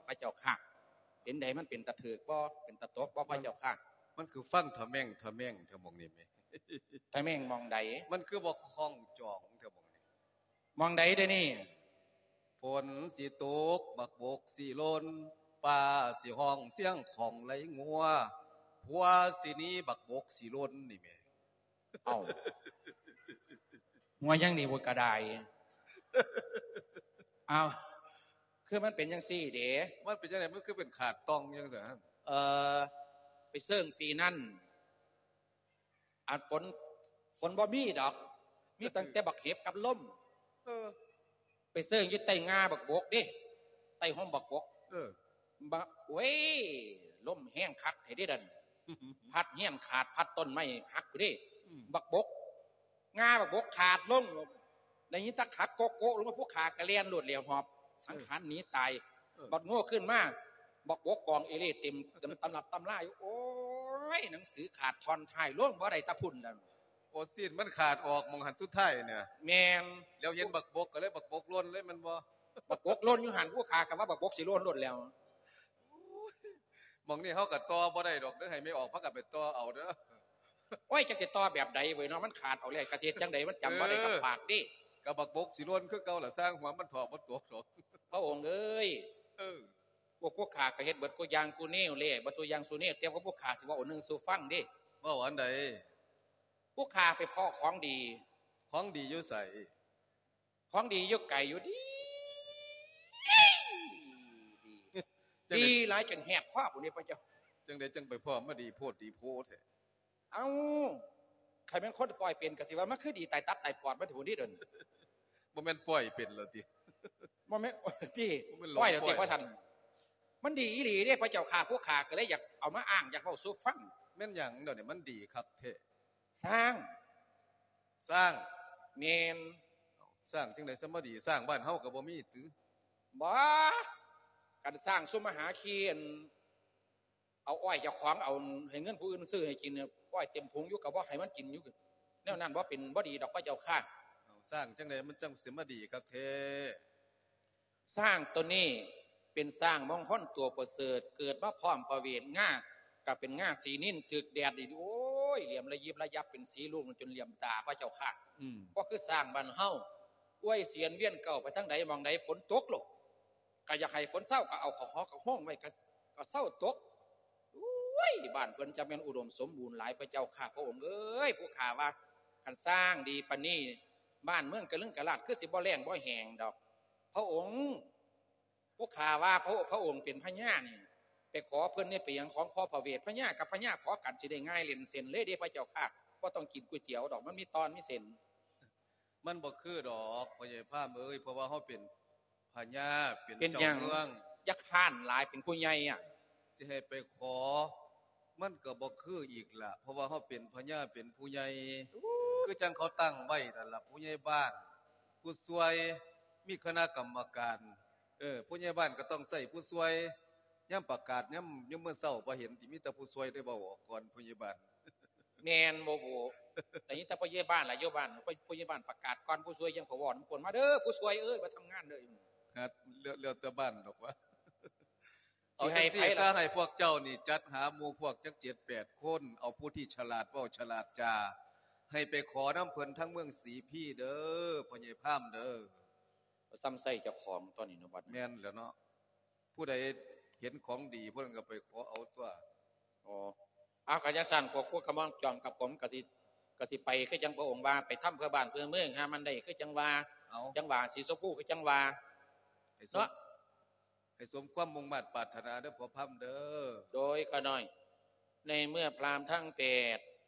ພະເຈົ້າຂ້າ ເປັນໃດ ມັນເປັນຕາຖືກບໍ່? ເປັນຕາຕົກບໍ່ ພະເຈົ້າຂ້າ? ມັນຄືຟັງທະແມ່ງທະແມ່ງແທ້ໝ່ອງນີ້ແມະ. ທະແມ່ງໝ່ອງໃດ? ມັນຄືບໍ່ຄ່ອງຈອງແທ້ໝ່ອງນີ້. ໝ່ອງໃດເດນີ້? ຝົນຊິຕົກ ບັກບົກຊິຫຼົ່ນ, ຟ້າຊິຮ້ອງສຽງຂອງໄຫຼງົວ, ຜົວຊິໜີ ບັກບົກຊິຫຼົ່ນນີ້ແມະ. ເອົ້າ ຫົວຫຍັງນີ້ ບົດກະດາຍ. ເອົ້າ ຄືມັນເປັນຈັ່ງຊີ້ເດ? ມັນເປັນຈັ່ງໃດ? ມັນຄືເປັນຂາດຕ່ອງຈັ່ງຊັ້ນ? ເອີ ໄປເຊິ່ງປີນັ້ນ ອາດຝົນ ຝົນບໍ່ມີດອກ ມີຕັ້ງແຕ່ບັກເຫັບກັບລົມ. ເອີ ໄປເຊິ່ງຢູ່ໃຕ້ງ່າບັກບົກເດ້ ໃຕ້ຮົ່ມບັກບົກ. ເອີ ບະ ໂອ້ຍ ລົມແຮງຄັກແທ້ເດ້ນັ້ນ, ພັດຮຽນຂາດ ພັດຕົ້ນໄມ້ຫັກພຸ້ນເດ້. ອືມ ບັກບົກ ງ່າບັກບົກຂາດລົງ, ໄດ້ຍິນແຕ່ຂັດໂກະໂກະລົງມາ ຜູ້ຂ້າກໍແລ່ນໂລດແລ້ວ ຫອບສັງຂານໜີຕາຍ. ເອີ ບັດໂງ່ຂຶ້ນມາ ບັກບົກກອງເອເລ່ເຕັມ ເຕັມຕຳລັບຕຳລາຢູ່. ໂອ້ຍ ໜັງສືຂາດທ່ອນທ້າຍ ລົງບໍ່ໄດ້ແຕ່ພຸ້ນແລ້ວ. ໂອ້ ຊີ້ນມັນຂາດອອກໝ່ອງຫັ້ນສຸດທ້າຍນີ້. ແມ່ນ. ແລ້ວເຫັນບັກບົກກໍເລີຍ ບັກບົກຫຼົ່ນເລີຍແມ່ນບໍ່? ບັກບົກຫຼົ່ນຢູ່ຫັ້ນ ຜູ້ຂ້າກໍວ່າບັກບົກຊິຫຼົ່ນໂລດແລ້ວ. ໂອ້ຍ ໝ່ອງນີ້ເຮົາກໍຕໍ່ບໍ່ໄດ້ດອກເດີ ໃຫ້ແມ່ອອກພາກັນໄປຕໍ່ເອົາເດີ. ໂອ້ຍ ຈັກຊິຕໍ່ແບບໃດເວີຍເນາະ ມັນຂາດອອກແລ້ວ ກະຊິເຮັດຈັ່ງໃດ ມັນຈຳບໍ່ໄດ້ກັບປາກເດ້. ເອີ ກໍບັກບົກຊິຫຼົ່ນຄືເກົ່າລະ ຊ່າງຫົວ ມັນຖອກບໍ່ຕົກດອກ. ພະອົງເອີຍ ເອີ ພວກ ພວກຂ້າກໍເຮັດເບິດຄູ່ຢ່າງຄູ່ແນວແລ້ວ ເບິດຄູ່ຢ່າງສູ່ແນວ, ແຕ່ວ່າພວກຂ້າຊິເວົ້າອັນໜຶ່ງສູ່ຟັງເດ້. ເວົ້າອັນໃດ? ພວກຂ້າໄປພໍ້ຂອງດີ. ຂອງດີຢູ່ໃສ? ຂອງດີຢູ່ໄກຢູ່ ດີ ດີ ດີຫຼາຍຈົນແຫບຄໍພຸ້ນເດ້ພະເຈົ້າ. ຈັ່ງໃດຈັ່ງໄປພໍ້ມາດີໂພດດີໂພແທ້? ເອົ້າ ຄັນແມ່ນຄົນປ່ອຍເປັນກໍຊິວ່າມັນຄືດີຕາຍຕັບຕາຍປອດມັນພຸ້ນເດ້ດຽວນີ້. ບໍ່ແມ່ນປ່ອຍເປັນແລ້ວຕິ? ບໍ່ແມ່ນ ຕິ ບໍ່ແມ່ນ ປ່ອຍແລ້ວຕິວ່າຊັ້ນ. ມັນດີອີ່ຫຼີເດ້ພະເຈົ້າຂ້າ, ພວກຂ້າກໍເລີຍຢາກເອົາມາອ້າງ ຢາກເວົ້າສູ່ຟັງ. ແມ່ນຫຍັງດຽວນີ້ ມັນດີຄັກແທ້? ຊ້າງ. ຊ້າງ? ແມ່ນ. ຊ້າງຈັ່ງໃດຊະມາດີ? ຊ້າງບ້ານເຮົາກໍບໍ່ມີຕິ? ບໍ່. ຄັນຊ້າງຊຸມມາຫາຂີ້ ເອົາອ້ອຍເຈົ້າຂອງ ເອົາໃຫ້ເງິນຜູ້ອື່ນຊື້ໃຫ້ກິນ, ອ້ອຍເຕັມຖົງຢູ່ ກໍບໍ່ໃຫ້ມັນກິນຢູ່. ແນວນັ້ນບໍ່ເປັນ ບໍ່ດີດອກພະເຈົ້າຂ້າ. ເອົາ ຊ້າງຈັ່ງໃດມັນຈັ່ງຊິມາດີຄັກແທ້? ຊ້າງຕົວນີ້ເປັນຊ້າງມງຄົນຕົວປະເສີດ, ເກີດມາພ້ອມພະເວດ, ງາກໍເປັນງາສີນິນ, ຖືກແດດນີ້ ໂອ້ຍ ຫຼຽມລະຍິບລະຍັບ ເປັນສີລຸງຈົນຫຼຽມຕາພະເຈົ້າຂ້າ. ອືມ ບໍ່ຄືຊ້າງບ້ານເຮົາ. ອວຍສຽນວຽນເກົ່າໄປທາງໃດໝ່ອງໃດ ຝົນຕົກໂລດ. ກໍຢາກໃຫ້ຝົນເຊົາ ກໍເອົາເຂົ້າຫໍເຂົ້າໂຮງໄວ້ ກໍ ກໍເຊົາຕົກ. ໂອ້ຍ ບ້ານເພິ່ນຈັກແມ່ນອຸດົມສົມບູນຫຼາຍພະເຈົ້າຂ້າ. ພະອົງເອີຍ ຜູ້ຂ້າວ່າ ຄັນຊ້າງດີປານນີ້ ບ້ານເມືອງກະລຶງກະລາດ ຄືຊິບໍ່ແລ້ງບໍ່ແຫ້ງດອກ. ພະອົງ ຜູ້ຂ້າວ່າ ພະ ພະອົງເປັນພະຍານີ້ ໄປຂໍເພິ່ນແດ່ ໄປຫຍັງຂອງພໍ່ພະເວດ, ພະຍາກັບພະຍາຂໍກັນ ຊິໄດ້ງ່າຍເຫຼັ້ນເສັ້ນເລີຍເດ້ພະເຈົ້າຂ້າ. ບໍ່ຕ້ອງກິນກ໋ວຍຕຽວດອກ ມັນມີຕ່ອນມີເສັ້ນ. ມັນບໍ່ຄືດອກ ພໍ່ໃຫຍ່ພາມເອີຍ, ເພາະວ່າເຮົາເປັນພະຍາ ເປັນເຈົ້າເມືອງ. ເປັນຫຍັງ? ຢ່າຄ້ານຫຼາຍ ເປັນຜູ້ໃຫຍ່ອະ. ຊິໃຫ້ໄປຂໍ ມັນກໍບໍ່ຄືອີກລະ ເພາະວ່າເຮົາເປັນພະຍາ ເປັນຜູ້ໃຫຍ່ ຄືຈັ່ງເຂົາຕັ້ງໄວ້ນັ້ນລະ ຜູ້ໃຫຍ່ບ້ານ ຜູ້ຊ່ວຍ ມີຄະນະກຳມະການ ເອີ ຜູ້ໃຫຍ່ບ້ານກໍຕ້ອງໃຊ້ຜູ້ຊ່ວຍ ຍາມປະກາດ ຍາມ ຍາມມື້ເຊົ້າບໍ່ເຫັນຕິ ມີແຕ່ຜູ້ຊ່ວຍໄດ້ເວົ້າອອກກ່ອນ ຜູ້ໃຫຍ່ບ້ານ. ແມ່ນບໍ່ບຸ? ໄດ້ຍິນແຕ່ຜູ້ໃຫຍ່ບ້ານລະ ຢູ່ບ້ານ ຜູ້ໃຫຍ່ບ້ານປະກາດກ່ອນຜູ້ຊ່ວຍ ຍັງກໍເວົ້ານຳຄົນ ມາເດີຜູ້ຊ່ວຍເອີຍ ມາທຳງານເດີ. ແລ້ວ ແລ້ວແຕ່ບ້ານດອກວ່າ ເອົາຈັ່ງຊີ້ຊະ ໃຫ້ພວກເຈົ້ານີ້ຈັດຫາໝູ່ພວກຈັກເຈັດແປດຄົນ ເອົາຜູ້ທີ່ສະຫຼາດເວົ້າສະຫຼາດຈາ ໃຫ້ໄປຂໍນຳເພິ່ນທາງເມືອງສີພີເດີ ພໍ່ໃຫຍ່ພາມເດີ. ສ່ຳໃສ່ເຈົ້າຂອງຕອນນີ້ເນາະບັດ. ແມ່ນແລ້ວເນາະ ຜູ້ໃດເຫັນຂອງດີ ຜູ້ນັ້ນກໍໄປຂໍເອົາຕົວະ. ອໍ ເອົາ ຄັນຈັ່ງຊັ້ນ ພວກ ພວກກະໝ່ອມຈອມກັບຜົມກະຊິ ກະຊິໄປ ຄືຈັ່ງພະອົງວ່າ ໄປທຳເພື່ອບ້ານເພື່ອເມືອງ ຫາມັນໄດ້ ຄືຈັ່ງວ່າ ເອົາ ຈັ່ງວ່າ ສີຊົມພູ ຄືຈັ່ງວ່າ ໃຫ້ສົມ ເນາະ ໃຫ້ສົມຄວາມມຸ່ງມາດປາດຖະໜາເດີພໍ່ພາມເດີ. ໂດຍຂ້ານ້ອຍ ໃນເມື່ອພາມທັງແປດ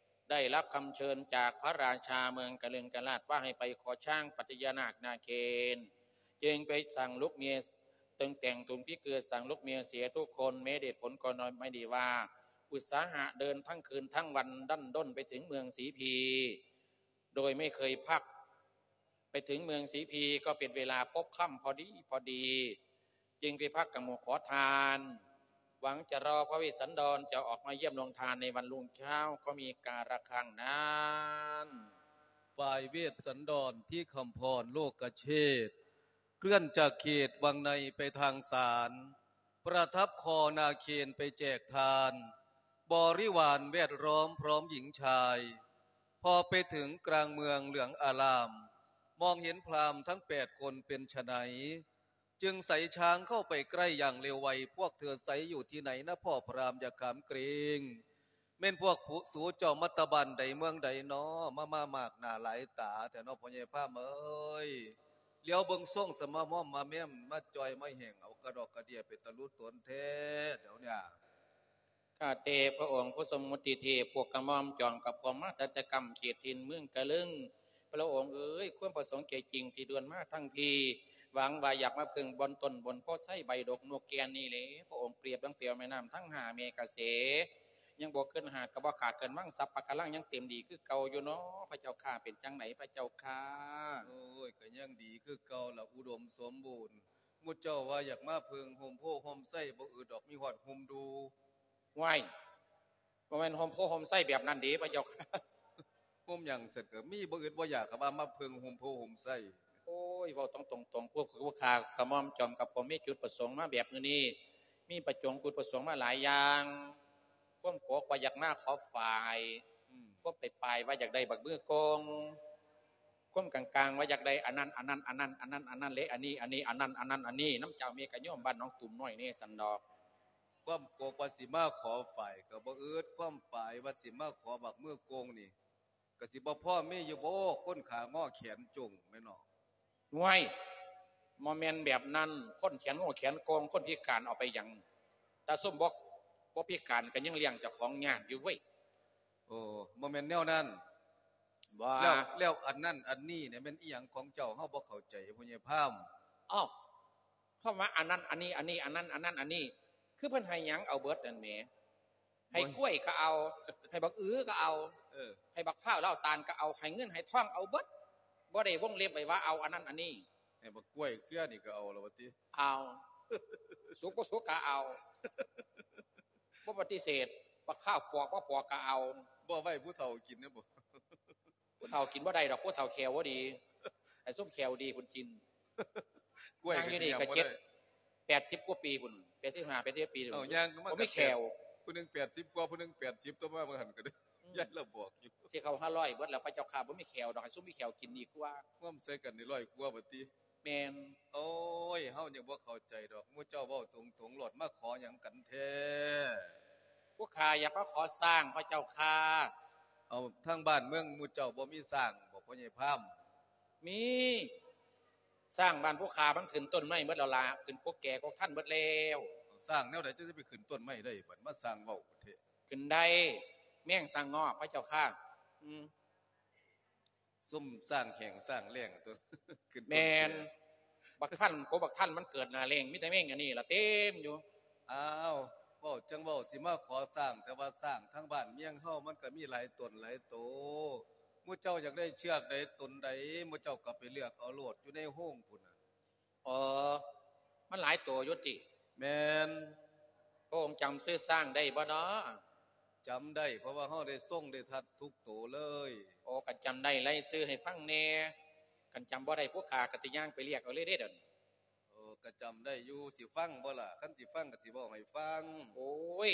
ໄດ້ຮັບຄຳເຊີນຈາກພະລາຊາເມືອງກະລຶງກະລາດ ວ່າໃຫ້ໄປຂໍຊ້າງປັດທະຍານາກນາເຄນ ຈຶ່ງໄປສັ່ງລູກເມຍ ຕຶງແຕ່ງທຸງພິເກີດ ສັ່ງລູກເມຍເສຍທຸກຄົນ ແມ້ເດດຝົນກໍນ້ອຍ ໄມ່ດີວ່າ ອຸດສາຫະເດີນທັງຄືນທັງວັນ ດັ້ນດົນໄປເຖິງເມືອງສີພີ ໂດຍໄມ່ເຄີຍພັກ. ໄປເຖິງເມືອງສີພີກໍເປັນເວລາພົບຄ່ຳພໍດີ ພໍດີ ຈຶ່ງໄປພັກກັບໝູ່ຂໍທານ ຫວັງຈະລໍພະເວດສັນດອນຈະອອກມາຢ້ຽມໂລງທານໃນວັນລຸ່ງເຊົ້າ ກໍມີກາລະຄັ້ງນັ້ນ ຝ່າຍເວດສັນດອນ ທີຄຳພອນ ໂລກະເຊດ ເຄື່ອນຈາກເຂດວັງໃນໄປທາງສານ ປະທັບຂໍນາເຄນໄປແຈກທານ ບໍລິວານແວດລ້ອມພ້ອມຍິງຊາຍ ພໍໄປເຖິງກາງເມືອງເຫຼືອງອາລາມ ມອງເຫັນພຣາມທັງແປດຄົນເປັນຊະໄນ ຈຶ່ງໄສຊ້າງເຂົ້າໄປໃກ້ຢ່າງເລັວໄວ ພວກເທີໄຊຢູ່ທີ່ໃນນະພໍ່ພຣາມ ຢ່າຂາມເກຣງ ແມ່ນພວກຜູ້ສູເຈົ້າມາແຕ່ບ້ານໃດເມືອງໃດນໍ ມາ ມາມາກໜ້າຫຼາຍຕາແທ້ນໍ ພໍ່ໃຫຍ່ພາມເອີຍ ຫຼຽວເບິ່ງຊົງສະມາມອມມາແມມ ມາຈ່ອຍມາແຫ້ງເອົາກະດອກກະເດຍ ເປັນຕາລຸຕົນແທ້ດຽວນີ້. ຂ້າແຕ່ພະອົງຜູ້ຊົງມຸດທິເທບ ພວກກະໝ່ອມຈອມກັບຜົມມາແຕ່ແຕ່ກຳເຂດຖິ່ນເມືອງກະລຶງ ພະອົງເອີຍ ຄວາມປະສົງໃຈຈິງທີ່ດ່ວນມາທັງພີ ຫວັງວ່າຢາກມາເພິ່ງບ່ອນຕົ້ນບ່ອນໂພໄຊໃບດົກນົກແກ່ນນີ້ແຫຼະ ພະອົງປຽບດັ່ງແປວແມ່ນ້ຳທັງຫ້າແມ່ກະເສ ຍັງບໍ່ເກີນຫາກະບໍ່ຂາດເກີນວັງ ສັບປະກາລັງຍັງເຕັມດີຄືເກົ່າຢູ່ເນາະ ພະເຈົ້າຂ້າ ເປັນຈັ່ງໃດພະເຈົ້າຂ້າ? ໂອ້ຍ ກະຍັງດີຄືເກົ່າລະ ອຸດົມສົມບູນ ໝູ່ເຈົ້າວ່າຢາກມາເພິ່ງຮົ່ມໂພຮົ່ມໄຊ ບໍ່ອຶດດອກ ມີຮອດຮົ່ມດູ. ຫວ້າຍ ບໍ່ແມ່ນຮົ່ມໂພຮົ່ມໄຊແບບນັ້ນເດພະເຈົ້າຂ້າ. ຮົ່ມຫຍັງຊັ້ນ ກະມີບໍ່ອຶດບໍ່ຢາກ ກະວ່າມາເພິ່ງຮົ່ມໂພຮົ່ມໄຊ. ໂອ້ຍ ເວົ້າຕົງໆ ພວກ ພວກຂ້າກະໝ່ອມຈອມກັບຜົມມີຈຸດປະສົງມາແບບມື້ນີ້ ມີປະສົງ ຈຸດປະສົງມາຫຼາຍຢ່າງ ຄວາມກົກວ່າຢາກມາຂໍຝ້າຍ ອືມ ຄວາມປາຍໆວ່າຢາກໄດ້ບັກມືກົງ ຄວາມກາງໆວ່າຢາກໄດ້ອັນນັ້ນ ອັນນັ້ນ ອັນນັ້ນ ອັນນັ້ນ ອັນນັ້ນ ແລະ ອັນນີ້ ອັນນີ້ ອັນນັ້ນ ອັນນັ້ນ ອັນນີ້ ນຳເຈົ້າແມ່ກະໂຍມບ້ານໜອງຕຸ່ມນ້ອຍແດ່ຊັ້ນດອກ. ຄວາມກົກວ່າຊິມາຂໍຝ້າຍກະບໍ່ອຶດ ຄວາມປາຍວ່າຊິມາຂໍບັກມືກົງນີ້ ກະຊິບໍ່ພໍມີຢູ່ບໍ ຄົນຂາງໍແຂນຈົ່ງແມ່ນເນາະ? ຫວ້າຍ ບໍ່ແມ່ນແບບນັ້ນ ຄົນແຂນງົວແຂນໂກ່ງ ຄົນພິການເອົາໄປຫຍັງ? ແຕ່ຊຸມບໍ່ ບໍ່ພິການກະຍັງລ້ຽງເຈົ້າຂອງຍາກຢູ່ເວີຍ. ໂອ້ ບໍ່ແມ່ນແນວນັ້ນ. ວ່າ ແລ້ວ ແລ້ວອັນນັ້ນອັນນີ້ນີ້ແມ່ນອີ່ຫຍັງຂອງເຈົ້າ? ເຮົາບໍ່ເຂົ້າໃຈ ພໍ່ໃຫຍ່ພາມ. ອ້າວ ເພາະວ່າອັນນັ້ນອັນນີ້ ອັນນີ້ ອັນນັ້ນ ອັນນັ້ນ ອັນນີ້ ຄືເພິ່ນໃຫ້ຫຍັງເອົາເບິດນັ້ນແໝ. ໃຫ້ກ້ວຍກໍເອົາ ໃຫ້ບັກອືກໍເອົາ ເອີ ໃຫ້ບັກພ້າວເຫຼົ້າຕານກໍເອົາ ໃຫ້ເງິນໃຫ້ທອງເອົາເບິດ ບໍ່ໄດ້ວົງເລັບໄວ້ວ່າເອົາອັນນັ້ນອັນນີ້. ໃຫ້ບັກກ້ວຍເຄືອນີ້ກໍເອົາລະວ່າຕິ? ເອົາ ສຸກບໍ່ສຸກກໍເອົາ ບໍ່ປະຕິເສດ ບັກພ້າວປອກບໍ່ປອກກໍເອົາ. ບໍ່ໄວ້ຜູ້ເຖົ້າກິນນະບໍ? ຜູ້ເຖົ້າກິນບໍ່ໄດ້ດອກ ຜູ້ເຖົ້າແຂ້ວບໍ່ດີ ໃຫ້ຊຸມແຂ້ວດີພຸ້ນກິນ. ກ້ວຍ ນັ່ງຢູ່ນີ້ກໍເຈັດ ແປດສິບກວ່າປີພຸ້ນ ແປດສິບຫ້າ ແປດສິບເອັດປີ ເອົາ ຍ່າງມາ ບໍ່ມີແຂ້ວ ຜູ້ໜຶ່ງແປດສິບກວ່າ ຜູ້ໜຶ່ງແປດສິບ ຕົວມາວ່າຫັ້ນກໍໄດ້ ອືມ ຍາຍລະບອກຢູ່ ຊິເຂົ້າຫ້າຮ້ອຍເບິດແລ້ວ ພະເຈົ້າຂ້າ ບໍ່ມີແຂ້ວດອກ ໃຫ້ຊຸມມີແຂ້ວກິນດີກວ່າ. ຮ່ວມໃສ່ກັນນີ້ຮ້ອຍກວ່າບັດຕິ? ແມ່ນ. ໂອ້ຍ ເຮົາຍັງບໍ່ເຂົ້າໃຈດອກ ໝູ່ເຈົ້າເວົ້າຕົງໆໂລດ ມາຂໍຫຍັງກັນແທ້? ພວກຂ້າຢາກມາຂໍຊ້າງ ພະເຈົ້າຂ້າ. ເອົາ ທາງບ້ານເມືອງໝູ່ເຈົ້າບໍ່ມີຊ້າງບໍ ພໍ່ໃຫຍ່ພາມ? ມີ ຊ້າງບ້ານພວກຂ້າມັນຂຶ້ນຕົ້ນໄມ້ເບິດແລ້ວລະ ຂຶ້ນກົກແກກົກທັນເບິດແລ້ວ. ເອົາ ຊ້າງແນວໃດຈຶ່ງໄດ້ໄປຂຶ້ນຕົ້ນໄມ້ໄດ້ ບັດມາຊ້າງເວົ້າແທ້? ຂຶ້ນໄດ້ ແມງຊ້າງງອກ ພະເຈົ້າຂ້າ. ອືມ ຊຸມຊ້າງແຫ້ງຊ້າງແລ້ງຕົວະ ຂຶ້ນຕົ້ນແກ. ແມ່ນ ບັກທັນ ກົກບັກທັນມັນເກີດໜ້າແລ້ງ ມີແຕ່ແມງອັນນີ້ລະເຕັມຢູ່. ອ້າວ ເວົ້າຈັ່ງເວົ້າ ຊິມາຂໍຊ້າງ ແຕ່ວ່າຊ້າງທາງບ້ານເມືອງເຮົາມັນກໍມີຫຼາຍຕົນຫຼາຍໂຕ. ໝູ່ເຈົ້າຢາກໄດ້ເຊືອກໃດຕົນໃດ ໝູ່ເຈົ້າກໍໄປເລືອກເອົາໂລດ ຢູ່ໃນໂຮງພຸ້ນນະ. ອໍ ມັນຫຼາຍໂຕຢູ່ຕິ? ແມ່ນ. ພະອົງຈຳຊື່ຊ້າງໄດ້ບໍ່ນໍ? ຈຳໄດ້ ເພາະວ່າເຮົາໄດ້ຊົງໄດ້ທັດທຸກໂຕເລີຍ. ໂອ້ ຄັນຈຳໄດ້ລາຍຊື່ໃຫ້ຟັງແດ່. ຄັນຈຳບໍ່ໄດ້ ຜູ້ຂ້າກໍຊິຍ່າງໄປລຽກເອົາເລີຍເດ້ດຽວນີ້. ເອີ ກໍຈຳໄດ້ຢູ່ ຊິຟັງບໍ່ລະ? ຄັນຊິຟັງກໍຊິເວົ້າໃຫ້ຟັງ. ໂອ້ຍ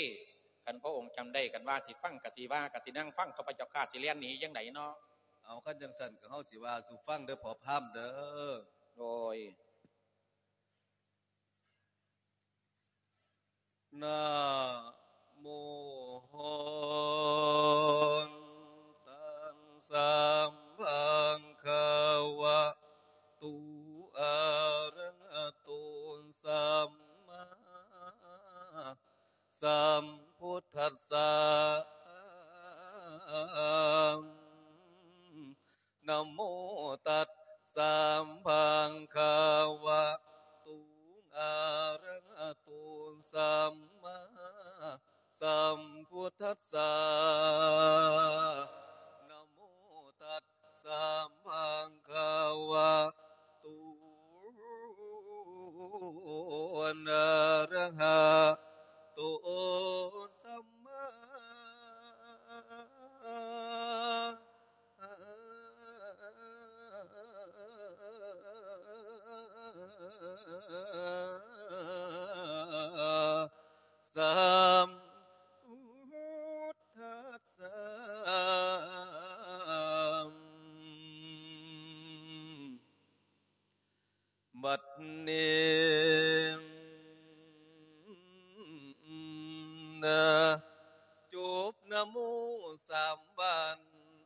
ຄັນພະອົງຈຳໄດ້ ຄັນວ່າຊິຟັງກໍຊິວ່າ ກໍຊິນັ່ງຟັງຕົວະ ພະເຈົ້າຂ້າ ຊິແລ່ນໜີຈັ່ງໃດເນາະ? ເອົາ ຄັນຈັ່ງຊັ້ນກໍເຮົາຊິວ່າສູ່ຟັງເດີ ພໍ່ພາມເດີ. ໂດຍ ນະໂມຕັດສະ ພະຄະວະໂຕ ອະຣະຫະໂຕ ສຳມາສຳພຸດທັດສະ. ນະໂມຕັດສະ ພະຄະວະໂຕ ອະຣະຫະໂຕ ສຳມາສຳພຸດທັດສະ. ນະໂມຕັດສະ ພະຄະວະໂຕ ອະຣະຫະໂຕ ສຳມາ ສຳພຸດທັດສະ. ບັດນີ້ນະ ຈົບນະໂມສາມບານ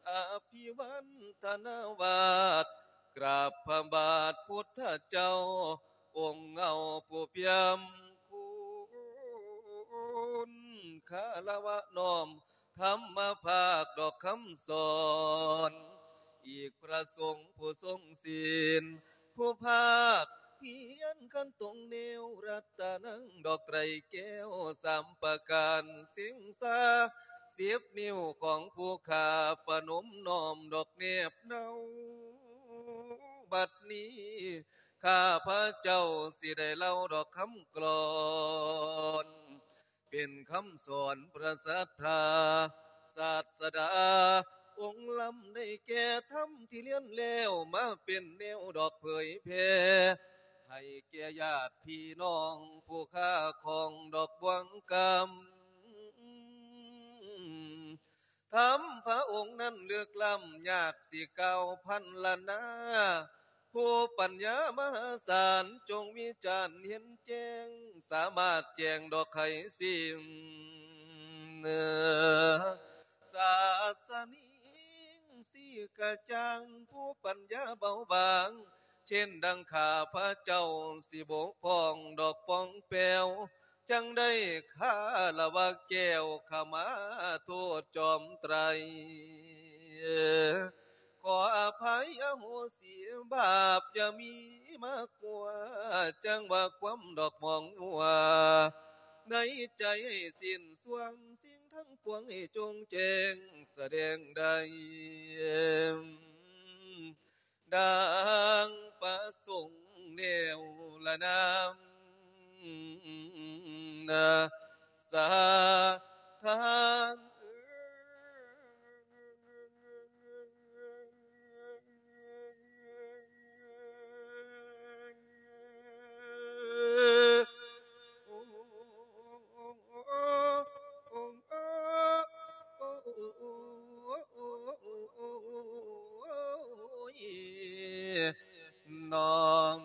ອະພິວັນທະນາວາດ ກາບພະບາດພຸດທະເຈົ້າ ອົງເງົາຜູ້ປ່ຽມຄຸນ ຄາລະວະນ້ອມ ທຳມະພາກດອກຄຳສອນ ອີກພະສົງຜູ້ຊົງສິນ ຜູ້ພາກພຽນຂັນຕົງແນວ ລັດຕະນັງດອກໄຕຣແກ້ວສາມປະການ ສິງສາສິບນິ້ວຂອງຜູ້ຂ້າ ປະນົມນ້ອມດອກແນບເນົາ ບັດນີ້ ຂ້າພະເຈົ້າຊິໄດ້ເລົ່າດອກຄຳກລອນ ເປັນຄຳສອນພະສັດທາສາດສະດາອົງລຳ ໄດ້ແກ່ທຳທີ່ລຽນແລ້ວ ມາເປັນແນວດອກເຜີຍແຜ່ ໃຫ້ແກ່ຍາດພີ່ນ້ອງຜູ້ຄ້າຂອງດອກບ່ວງກຳ. ທຳພະອົງນັ້ນເລິກລ້ຳ ຍາກຊິກ່າວພັນລະນາ ຜູ້ປັນຍາມະຫາສານ ຈົ່ງວິຈານເຫັນແຈ້ງ ສາມາດແຈ້ງດອກໄຂສິ່ງ ສາສະໜິງສີກະຈ່າງ ຜູ້ປັນຍາເບົາບາງ ເຊັ່ນດັ່ງຂ້າພະເຈົ້າ ຊິບົກຜ່ອງດອກປ່ອງແປວ ຈັ່ງໄດ້ຄາລະວະແກ້ວ ຂະມາໂທດຈອມໄຕ ຂໍອະໄພອະໂຫສິບາບ ຢ່າມີມາກົວ ຈັ່ງວ່າຄວາມດອກໝອງມົວ ໃນໃຈໃຫ້ສິ້ນຊ່ວງ ສິ່ງທັງປວງໃຫ້ໂຈ່ງແຈ້ງ ສະແດງໄດ້ ດັ່ງປະສົງແນວລະນາ ສາທາ ນ້ອມ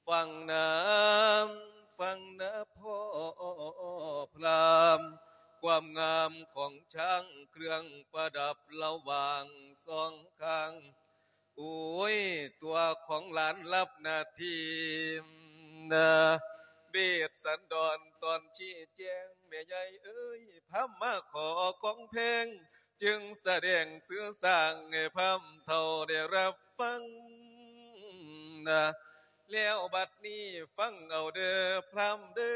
ຟັງນາ ຟັງນາພໍ່ພຣາມ ຄວາມງາມຂອງຊ້າງ ເຄື່ອງປະດັບລະຫວ່າງສອງຂ້າງ ໂອ້ຍ ຕົວຂອງຫຼານລັບໜ້າທີ່ນະ ເບດສັນດອນຕອນຊີ້ແຈງ ແມ່ໃຫຍ່ເອີຍ ພາມມາຂໍຂອງແພງ ຈຶ່ງສະແດງສື່ສ້າງໃຫ້ພາມເຖົ້າໄດ້ຮັບຟັງນະ. ແລ້ວບັດນີ້ຟັງເອົາເດີພຣາມເດີ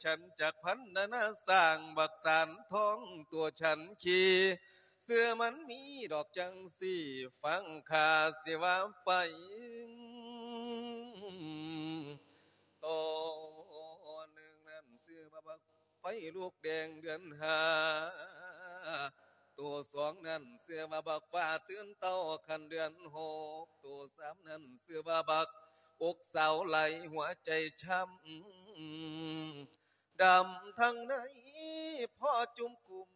ສັນຈັກພັນນະນາສ້າງບັກສານທອງຕົວສັນຂີ່ ເສື້ອມັນມີດອກຈັ່ງຊີ້ ຟັງຂ້າຊິວ່າໄປ. ໂຕໜຶ່ງນັ້ນຊື່ວ່າບັກ ໄຟລຸກແດງເດືອນຫ້າ ໂຕສອງນັ້ນຊື່ວ່າບັກຟ້າຕື່ນເຕົ້າຄັນເດືອນຫົກ ໂຕສາມນັ້ນຊື່ວ່າບັກອົກສາວໄຫຼຫົວໃຈຊ້ຳ ດຳທັງໃນພໍຈຸ້ມກຸ້ມ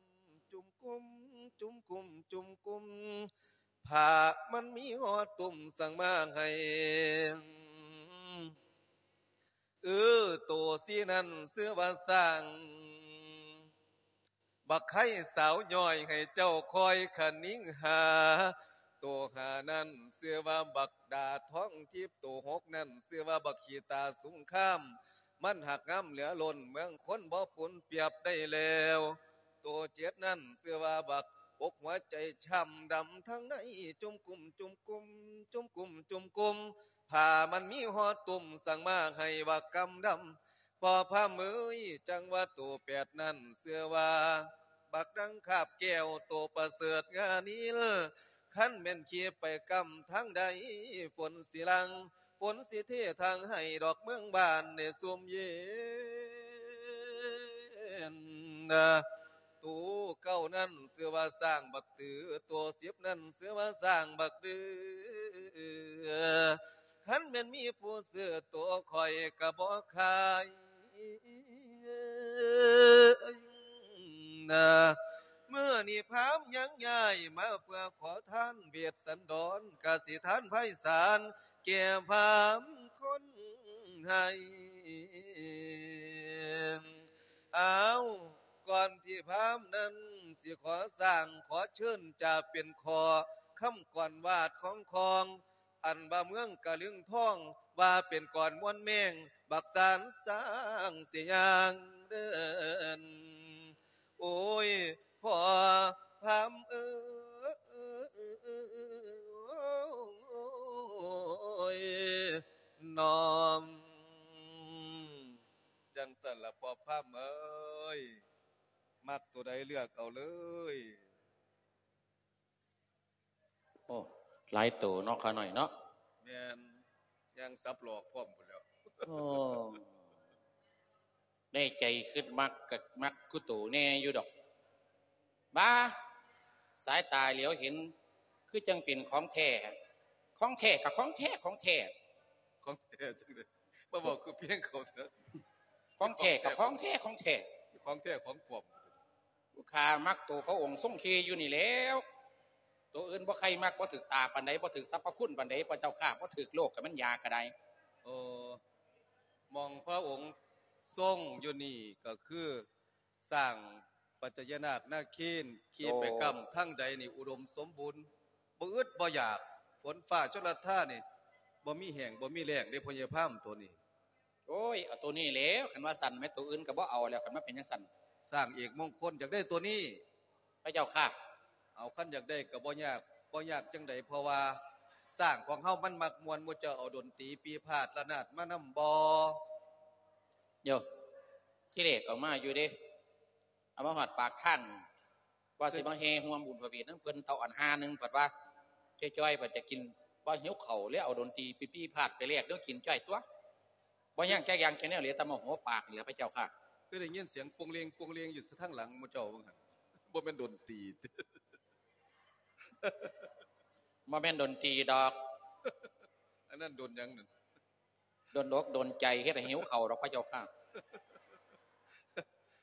ຈຸ້ມກຸ້ມ ຈຸ້ມກຸ້ມ ຈຸ້ມກຸ້ມ ຜ້າມັນມີຮອດຕຸ່ມສັ່ງມາໃຫ້ ເອີ ໂຕສີ່ນັ້ນຊື່ວ່າຊ້າງ ບັກໄຄສາວຍ້ອຍໃຫ້ເຈົ້າຄອຍຄະນິງຫາ ໂຕຫ້ານັ້ນຊື່ວ່າບັກດາທອງທິບ ໂຕຫົກນັ້ນຊື່ວ່າບັກຂີ້ຕາສົງຄາມ ມັນຫາກງາມເຫຼືອລົ້ນ ເມືອງຄົນບໍ່ປົນປຽບໄດ້ແລ້ວ ໂຕເຈັດນັ້ນຊື່ວ່າບັກອົກຫົວໃຈຊ້ຳ ດຳທັງໃນ ຈຸ້ມກຸ້ມ ຈຸ້ມກຸ້ມ ຈຸ້ມກຸ້ມ ຈຸ້ມກຸ້ມ ຜ້າມັນມີຮອດຕຸ່ມ ສັ່ງມາໃຫ້ບັກກຳດຳ ພໍ່ພາເອີຍ ຈັ່ງວ່າໂຕແປດນັ້ນເຊື່ອວ່າ ບັກດັງຄາບແກ້ວ ໂຕປະເສີດງານິລ ຄັນແມ່ນຂີ່ໄປກຳທາງໃດ ຝົນຊິຫຼັ່ງ ຝົນຊິເທທາງໃຫ້ດອກເມືອງບ້ານໄດ້ຊຸ່ມເຢັນ. ໂຕເກົ້ານັ້ນຊື່ວ່າຊ້າງບັກຕື້ ໂຕສິບນັ້ນຊື່ວ່າຊ້າງບັກດື ຄັນແມ່ນມີຜູ້ຊື້ໂຕຂ້ອຍກໍບໍ່ຂາຍ. ມື້ນີ້ພາມຍັງຍ້າຍມາເພື່ອຂໍທານເວດສັນດອນ ກະສິທານໄພສານແກ່ພາມຄົນໃຫ້. ອ້າວ ກ່ອນທີ່ພາມນັ້ນຊິຂໍສ້າງ ຂໍເຊີນຈະເປັນຂໍຄຳກອນວາດຂອງຂອງ ອັນວ່າເມືອງກະລຶງທອງ ວ່າເປັນກອນມ່ວນແມງ ບັກສານສ້າງຊິຍ່າງເດີນ ໂອ້ຍ ພໍ່ພາມເອີຍ ນ້ອມ ຈັ່ງຊັ້ນລະພໍ່ພາມເອີຍ ມັກໂຕໃດເລືອກເອົາເລີຍ. ໂອ້ ຫຼາຍໂຕເນາະ ຂ້ານ້ອຍເນາະ. ແມ່ນ ຍ່າງສັບຫຼອກພ້ອມພຸ້ນແຫຼ້ວ. ໂອ້ ໃນໃຈຄິດມັກກໍມັກຄູ່ໂຕແດ່ຢູ່ດອກ. ບາ ສາຍຕາຫຼຽວເຫັນ ຄືຈັ່ງເປັນຂອງແທ້. ຂອງແທ້ກໍຂອງແທ້ ຂອງແທ້ ຂອງແທ້ຈັ່ງໃດ? ມາເວົ້າຄືພຽງເຂົາເຖາະ. ຂອງແທ້ກໍຂອງແທ້ ຂອງແທ້ ຂອງແທ້ຂອງປອມ. ຜູ້ຂ້າມັກໂຕພະອົງຊົງຄີຢູ່ນີ້ແຫຼ້ວ. ໂຕອື່ນບໍ່ໃຄ່ມັກ ບໍ່ຖືກຕາປານໃດ ບໍ່ຖືກສັບພະຄຸນປານໃດ ພະເຈົ້າຂ້າ ບໍ່ຖືກໂລກກັບມັນຢາກໍໄດ້. ໂອ້ ໝ່ອງພະອົງຊົງຢູ່ນີ້ກໍຄືຊ້າງປັດຈະຍະນາກນາຄີນ ຂີ່ໄປກຳທາງໃດນີ້ອຸດົມສົມບູນ ບໍ່ອຶດບໍ່ຢາກ ຝົນຟ້າຊົນລະທານີ້ ບໍ່ມີແຫ້ງບໍ່ມີແລ້ງເດ້ ພໍ່ໃຫຍ່ພາມໂຕນີ້. ໂອ້ຍ ເອົາໂຕນີ້ແຫຼ້ວ ຄັນວ່າຊັ້ນແມ່ນໂຕອື່ນກໍບໍ່ເອົາແລ້ວ ຄັນມາເປັນຈັ່ງຊັ້ນ. ຊ້າງເອກມົງຄົນ ຢາກໄດ້ໂຕນີ້ ພະເຈົ້າຂ້າ. ເອົາ ຄັນຢາກໄດ້ກໍບໍ່ຍາກ ບໍ່ຍາກຈັ່ງໃດ ເພາະວ່າຊ້າງຂອງເຮົາມັນມັກມ່ວນ. ໝູ່ເຈົ້າເອົາດົນຕີປີພາດລະນາດມານຳບໍ່? ໂຍ ທີແລກເອົາມາຢູ່ເດ້ ເອົາມາຮອດປາກທາງ ວ່າຊິມາແຫ່ຮ່ວມບຸນພະເວດນຳເພິ່ນ ເທົ່າອັນຫ້າໜຶ່ງ ເພິ່ນວ່າຈ່ອຍໆ ເພິ່ນຈະກິນ ວ່າຫິວເຂົ້າ ເລີຍເອົາດົນຕີປີໆ ພາດໄປແລກແນວກິນຈ້ອຍຕົວະ. ບໍ່ຍັງຈັກຢ່າງຈັກແນວ ເຫຼືອແຕ່ມາຫົວປາກນີ້ແຫຼະ ພະເຈົ້າຂ້າ. ຄືໄດ້ຍິນສຽງໂປ່ງເລງໂປ່ງເລງຢູ່ທາງຫຼັງໝູ່ເຈົ້າວ່າຊັ້ນ ບໍ່ແມ່ນດົນຕີ? ບໍ່ແມ່ນດົນຕີດອກ ອັນນັ້ນດົນຫຍັງນັ້ນ? ດົນອົກດົນໃຈ ເຮັດໃຫ້ຫິວເຂົ້າດອກ ພະເຈົ້າຂ້າ.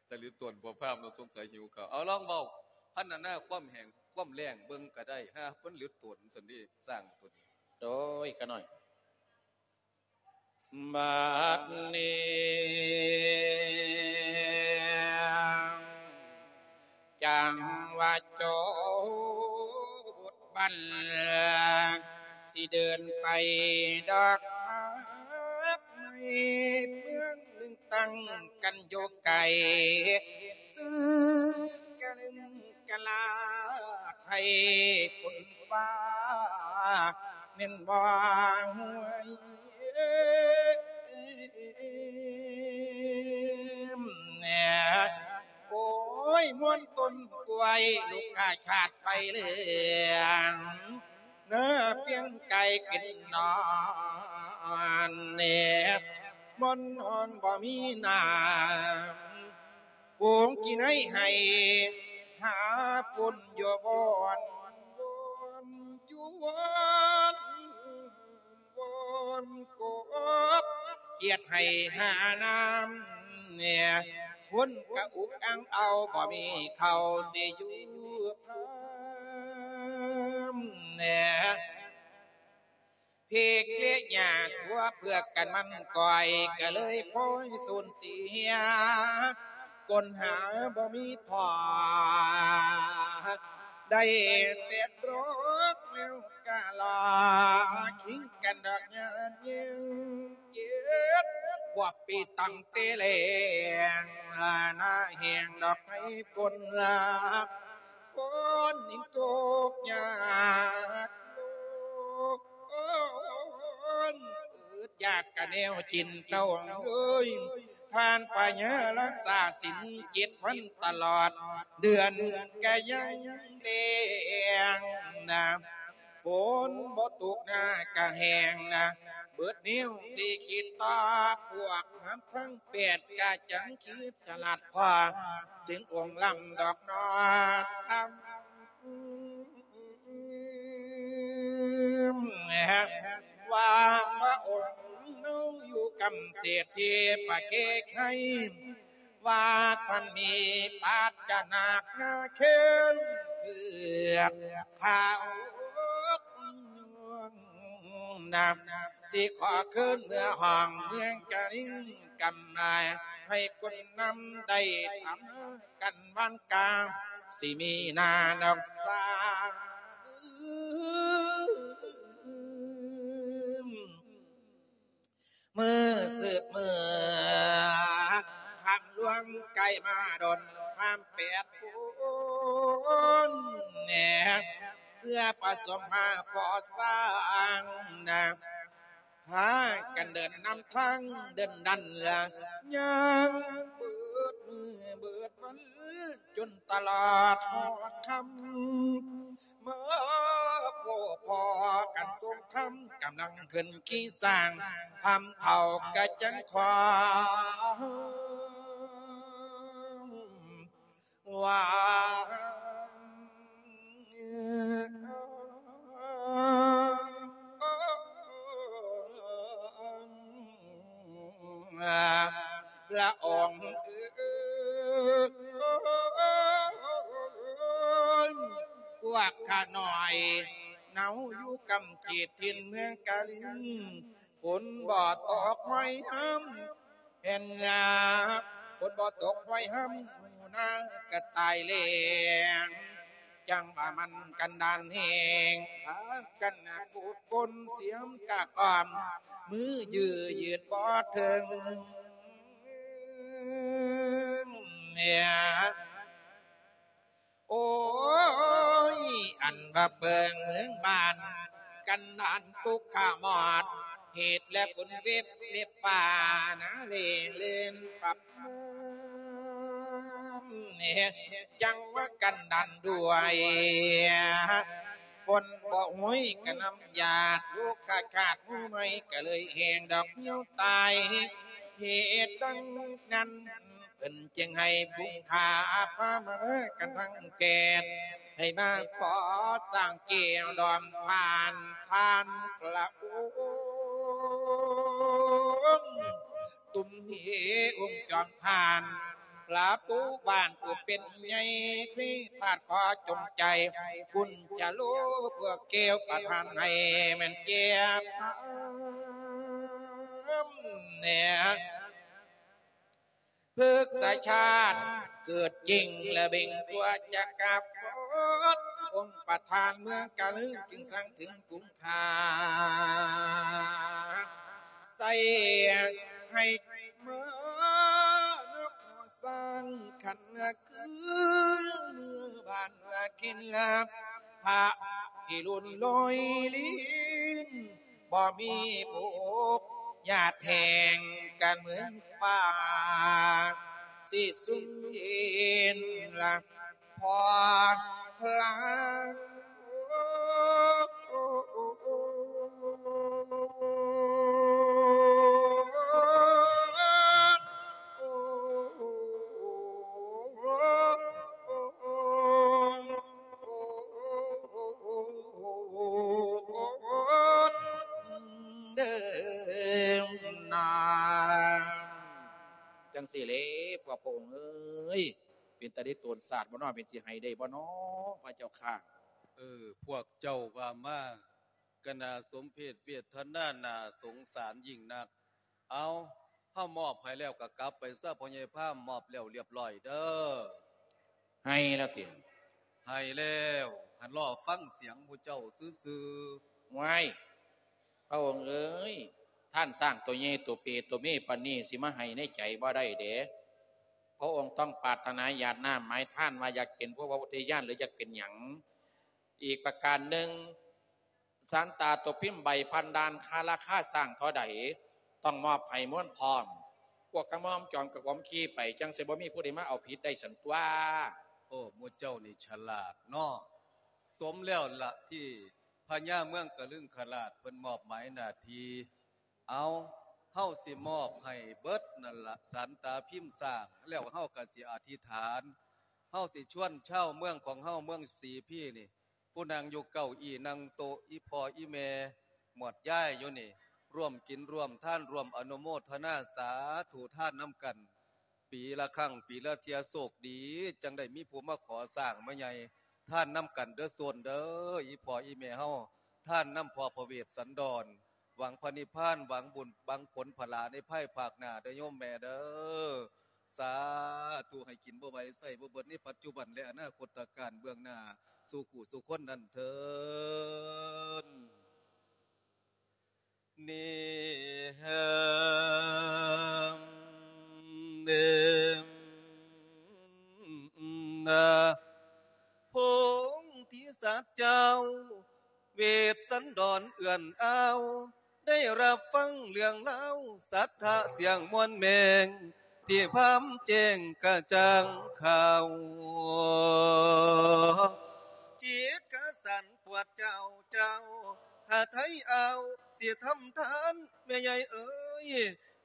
ຕະຫຼີຕົນບໍ່ພາມເນາະ ສົງໄສຫິວເຂົ້າ. ເອົາ ລອງເວົ້າພັນນະນາຄວາມແຫ້ງຄວາມແລ້ງເບິ່ງກໍໄດ້ ຫາມັນຫຼີຕົນຊັ້ນເດ ຊ້າງຕົວນີ້. ໂດຍ ຂ້ານ້ອຍ ບັດນີ້ ຈັ່ງວ່າເຈົ້າບົດບັນ ຊິເດີນໄປດອກໄມ້ ເມືອງໜຶ່ງຕັ້ງກັນຢູ່ໄກ ຊື່ກະລຶງກະລາໄທ ຝົນຟ້າແມ່ນບໍ່ຫ້ວຍ ໂອ້ຍ ມວນຕົ້ນກ້ວຍລູກກະຂາດໄປເລີຍ ນາພຽງໄກ່ກິນນອນແນບ ບ່ອນຫ້ອງບໍ່ມີນ້ຳ ຝູງກິນໃນໄຮ່ ຫາຝົນຢູ່ວອນ ວອນ ຢູ່ວອນ ວອນ ກົບຂຽດໄຮ່ຫານ້ຳແດ່ ຝົນກະອຸກອັ່ງເອົາ ບໍ່ມີເຂົ້າຊິຢູ່ພາມແດ່ ເພັກເລຍຫຍ້າທົ່ວເຜືອກກັນມັນກ້ອຍ ກະເລີຍພອຍສູນເສຍ ຄົ້ນຫາບໍ່ມີພໍ ໄດ້ແຕ່ດອກແລ້ວກະລາ ຄິງກັນດອກຍາດຍິງ ເຈັດບວບປີຕັ້ງແຕ່ແລງ ໜ້າແຫ້ງດອກໄມ້ຝົນລາ ຄົນຍິງທຸກຍາກ ຄົນອຶດຢາກກະແນວກິນເຕົ້າເອີຍ ທ່ານພະຍາລັກສາສິນເຈັດວັນຕະຫຼອດເດືອນກະຍັງແລ້ງນະ ຝົນບໍ່ຕົກນາກະແຫ້ງນະ ເບິດແນວຊິຄິດຕໍ່ ພວກຫາມທັງແປດກະຈັ່ງຄິດສະຫຼາດພໍ ເຖິງອົງລຳດອກນອກຄຳ ວ່າພະອົງເຮົາຢູ່ກຳເສດທີ່ປະເກໄຄ ວ່າທ່ານມີປາດຈະໜັກໜາເຂີນເຜືອກ ພາອົກຍອງນຳ ຊິຂໍຄືນເມືອຫ້ອງເມືອງກະລິງ ກຳນາຍໃຫ້ຄົນນຳໄດ້ທຳ ກັນວັນກາ ຊິມີໜ້ານອກສາ ມື້ສືບມື້ ຄຳຫຼວງໄກມາດົນ ຄຳແປດຄົນແດ່ ເພື່ອປະສົມມາກໍ່ສ້າງນະ ພາກັນເດີນນຳທາງເດີນດັນລະ ຍ່າງເບີດມື້ເບີດວັນ ຈົນຕະຫຼອດຮອດຄ່ຳ ມາພົບພໍ້ກັນຊົງທຳ ກຳລັງຂຶ້ນຂີ່ຊ້າງ ພາມເຖົ້າກະຈັ່ງຄວາມ ວ່າ ພະອົງເອີຍ ພວກຂ້ານ້ອຍ ເນົາຢູ່ກຳເຂດຖິ່ນເມືອງກາລິງ ຝົນບໍ່ຕົກໄຫວຫຳ ເຫັນລາ ຝົນບໍ່ຕົກໄຫວຫຳ ໝູນາກະຕາຍແລ້ງ ຈັ່ງວ່າມັນກັນດານແຮງ ພາກັນນະກູດກົ້ນສຽມກະກອມ ມືຢືດຢືດບໍ່ເຖິງ ໂອ້ຍ ອັນວ່າເບິ່ງເມືອງບ້ານ ກັນດານຕຸກຂະມອດ ເຫດແລະຝົນເວັບເລັບຟ້າ ນາເລງເລນປັບມາ ຈັ່ງວ່າກັນດານດ້ວຍ ຝົນບໍ່ໂຫຍກະນ້ຳຢາດ ໂລກາກາດໝູ່ໄມ້ກະເລີຍແຫ້ງດອກ ຍ່ຽວຕາຍ ເຫດດັ່ງນັ້ນ ເພິ່ນຈຶ່ງໃຫ້ບຸງຂ້າພາມາກັນທັງແກ່ນ ໃຫ້ມາຂໍສ້າງແກ້ວດອມຜ່ານ ທ່ານພະອົງ ຕຸ້ມເຫອົງຈອມທ່ານ ພະປູບ້ານຜູ້ເປັນໃຫຍ່ ທີ່ທາດຂໍຈົ່ງໃຈ ບຸນຈະໂລເພື່ອແກ້ວປະທານໃຫ້ແມ່ນແກ່ພາມແດ່ ພຶກສາຊາດເກີດຈິງ ແລະເບັງຕົວຈັກກະພອດ ອົງປະທານເມືອງກະລຶງຈຶ່ງສັ່ງເຖິງກຸງຄາ ໃສ່ໃຫ້ມານະ ກໍ່ສ້າງຂັນນະຄືນເມືອບ້ານລະເຂັນລະ ພະພິລຸນລອຍລີນ ບໍ່ມີພວກຍາດແຫ່ງ ການເມືອງຟ້າ ຊິສຸມເຢັນລະ ພໍພະລັງ ເດີມນາ. ຈັ່ງຊີ້ເລ ພວກພະອົງເອີຍ ເປັນຕາໄດ້ໂຕນສາດບໍ່ນໍ ເປັນຊິໃຫ້ໄດ້ບໍ່ນໍ ພະເຈົ້າຂ້າ? ເອີ ພວກເຈົ້າວ່າມາ ກະໜ້າສົມເພດເວທະນາ ໜ້າສົງສານຍິ່ງນັກ. ເອົາ ເຮົາມອບໃຫ້ແລ້ວກະກັບໄປຊະ ພໍ່ໃຫຍ່ພາມ ມອບແລ້ວລຽບລ້ອຍເດີ. ໃຫ້ແລ້ວຕິ? ໃຫ້ແລ້ວ ຫັ້ນລໍຟັງສຽງໝູ່ເຈົ້າຊື່ໆ. ວ້າຍ ພະອົງເອີຍ ທ່ານຊ້າງໂຕໃຫຍ່ໂຕເປໂຕເມປານນີ້ ຊິມາໃຫ້ໃນໃຈບໍ່ໄດ້ເດ້. ພະອົງຕ້ອງປາດຖະໜາຢາດນ້ຳໝາຍທານ ວ່າຢາກເປັນຜູ້ພະພຸດທະຍານ ຫຼື ຢາກເປັນຫຍັງ? ອີກປະການໜຶ່ງ ສັນຕາຕົວພິມໃບພັນດ່ານ ຄ່າລາຄາຊ້າງເທົ່າໃດ ຕ້ອງມອບໃຫ້ມວນພ້ອມ. ພວກກະໝ່ອມຈອມກະໝ່ອມຂີ່ໄປ ຈັ່ງຊິບໍ່ມີຜູ້ໃດມາເອົາຜິດໄດ້ຊັ້ນຕົວະ. ໂອ້ ໝູ່ເຈົ້ານີ້ສະຫຼາດເນາະ. ສົມແລ້ວລະທີ່ພະຍາເມືອງກະລຶງຄະລາດເພິ່ນມອບໝາຍໜ້າທີ່. ເອົາ ເຮົາຊິມອບໃຫ້ເບິດນັ້ນລະ ສັນຕາພິມຊ້າງ. ແລ້ວເຮົາກະຊິອະທິຖານ ເຮົາຊິຊວນຊາວເມືອງຂອງເຮົາ ເມືອງສີພີນີ້ ຜູ້ນັ່ງຢູ່ເກົ້າອີ່ນັ່ງໂຕະ ອີ່ພໍ່ອີ່ແມ່ ໝວດຍາຍຢູ່ນີ້ ຮ່ວມກິນຮ່ວມທານ ຮ່ວມອະນຸໂມທະນາສາທຸທານນຳກັນ ປີລະຄັ້ງ ປີລະເທື່ອ ໂຊກດີຈັ່ງໄດ້ມີຜູ້ມາຂໍສ້າງມາໃຫຍ່ ທານນຳກັນເດີໂຊນເດີ ອີ່ພໍ່ອີ່ແມ່ເຮົາ ທານນຳພໍ່ພະເວດສັນດອນ ຫວັງພະນິບພານ ຫວັງບຸນ ຫວັງຜົນຜະຫຼາໃນພາຍພາກໜ້າເດີໂຍມແມ່ເດີ. ສາທຸ ໃຫ້ກິນບໍ່ໄຫວ ໃຊ້ບໍ່ເບິດ ໃນປັດຈຸບັນ ແລະ ອະນາຄົດຕະການເບື້ອງໜ້າ ສູ່ຜູ້ສູ່ຄົນນັ້ນເທີນ. ນິເຮມ ເນມ ນາ ໂພທິສັດເຈົ້າ ເວດສັນດອນເອື້ອນອ້າວ ໄດ້ຮັບຟັງເລື່ອງລາວ ສັດທະສຽງມ່ວນແມງ ທີ່ພາມແຈ້ງກະຈ່າງຂ່າວ ຈິດກະສັນປວດເຈົ້າ ເຈົ້າຫາໄທອ້າວ ຊິທຳທານ ແມ່ໃຫຍ່ເອີຍ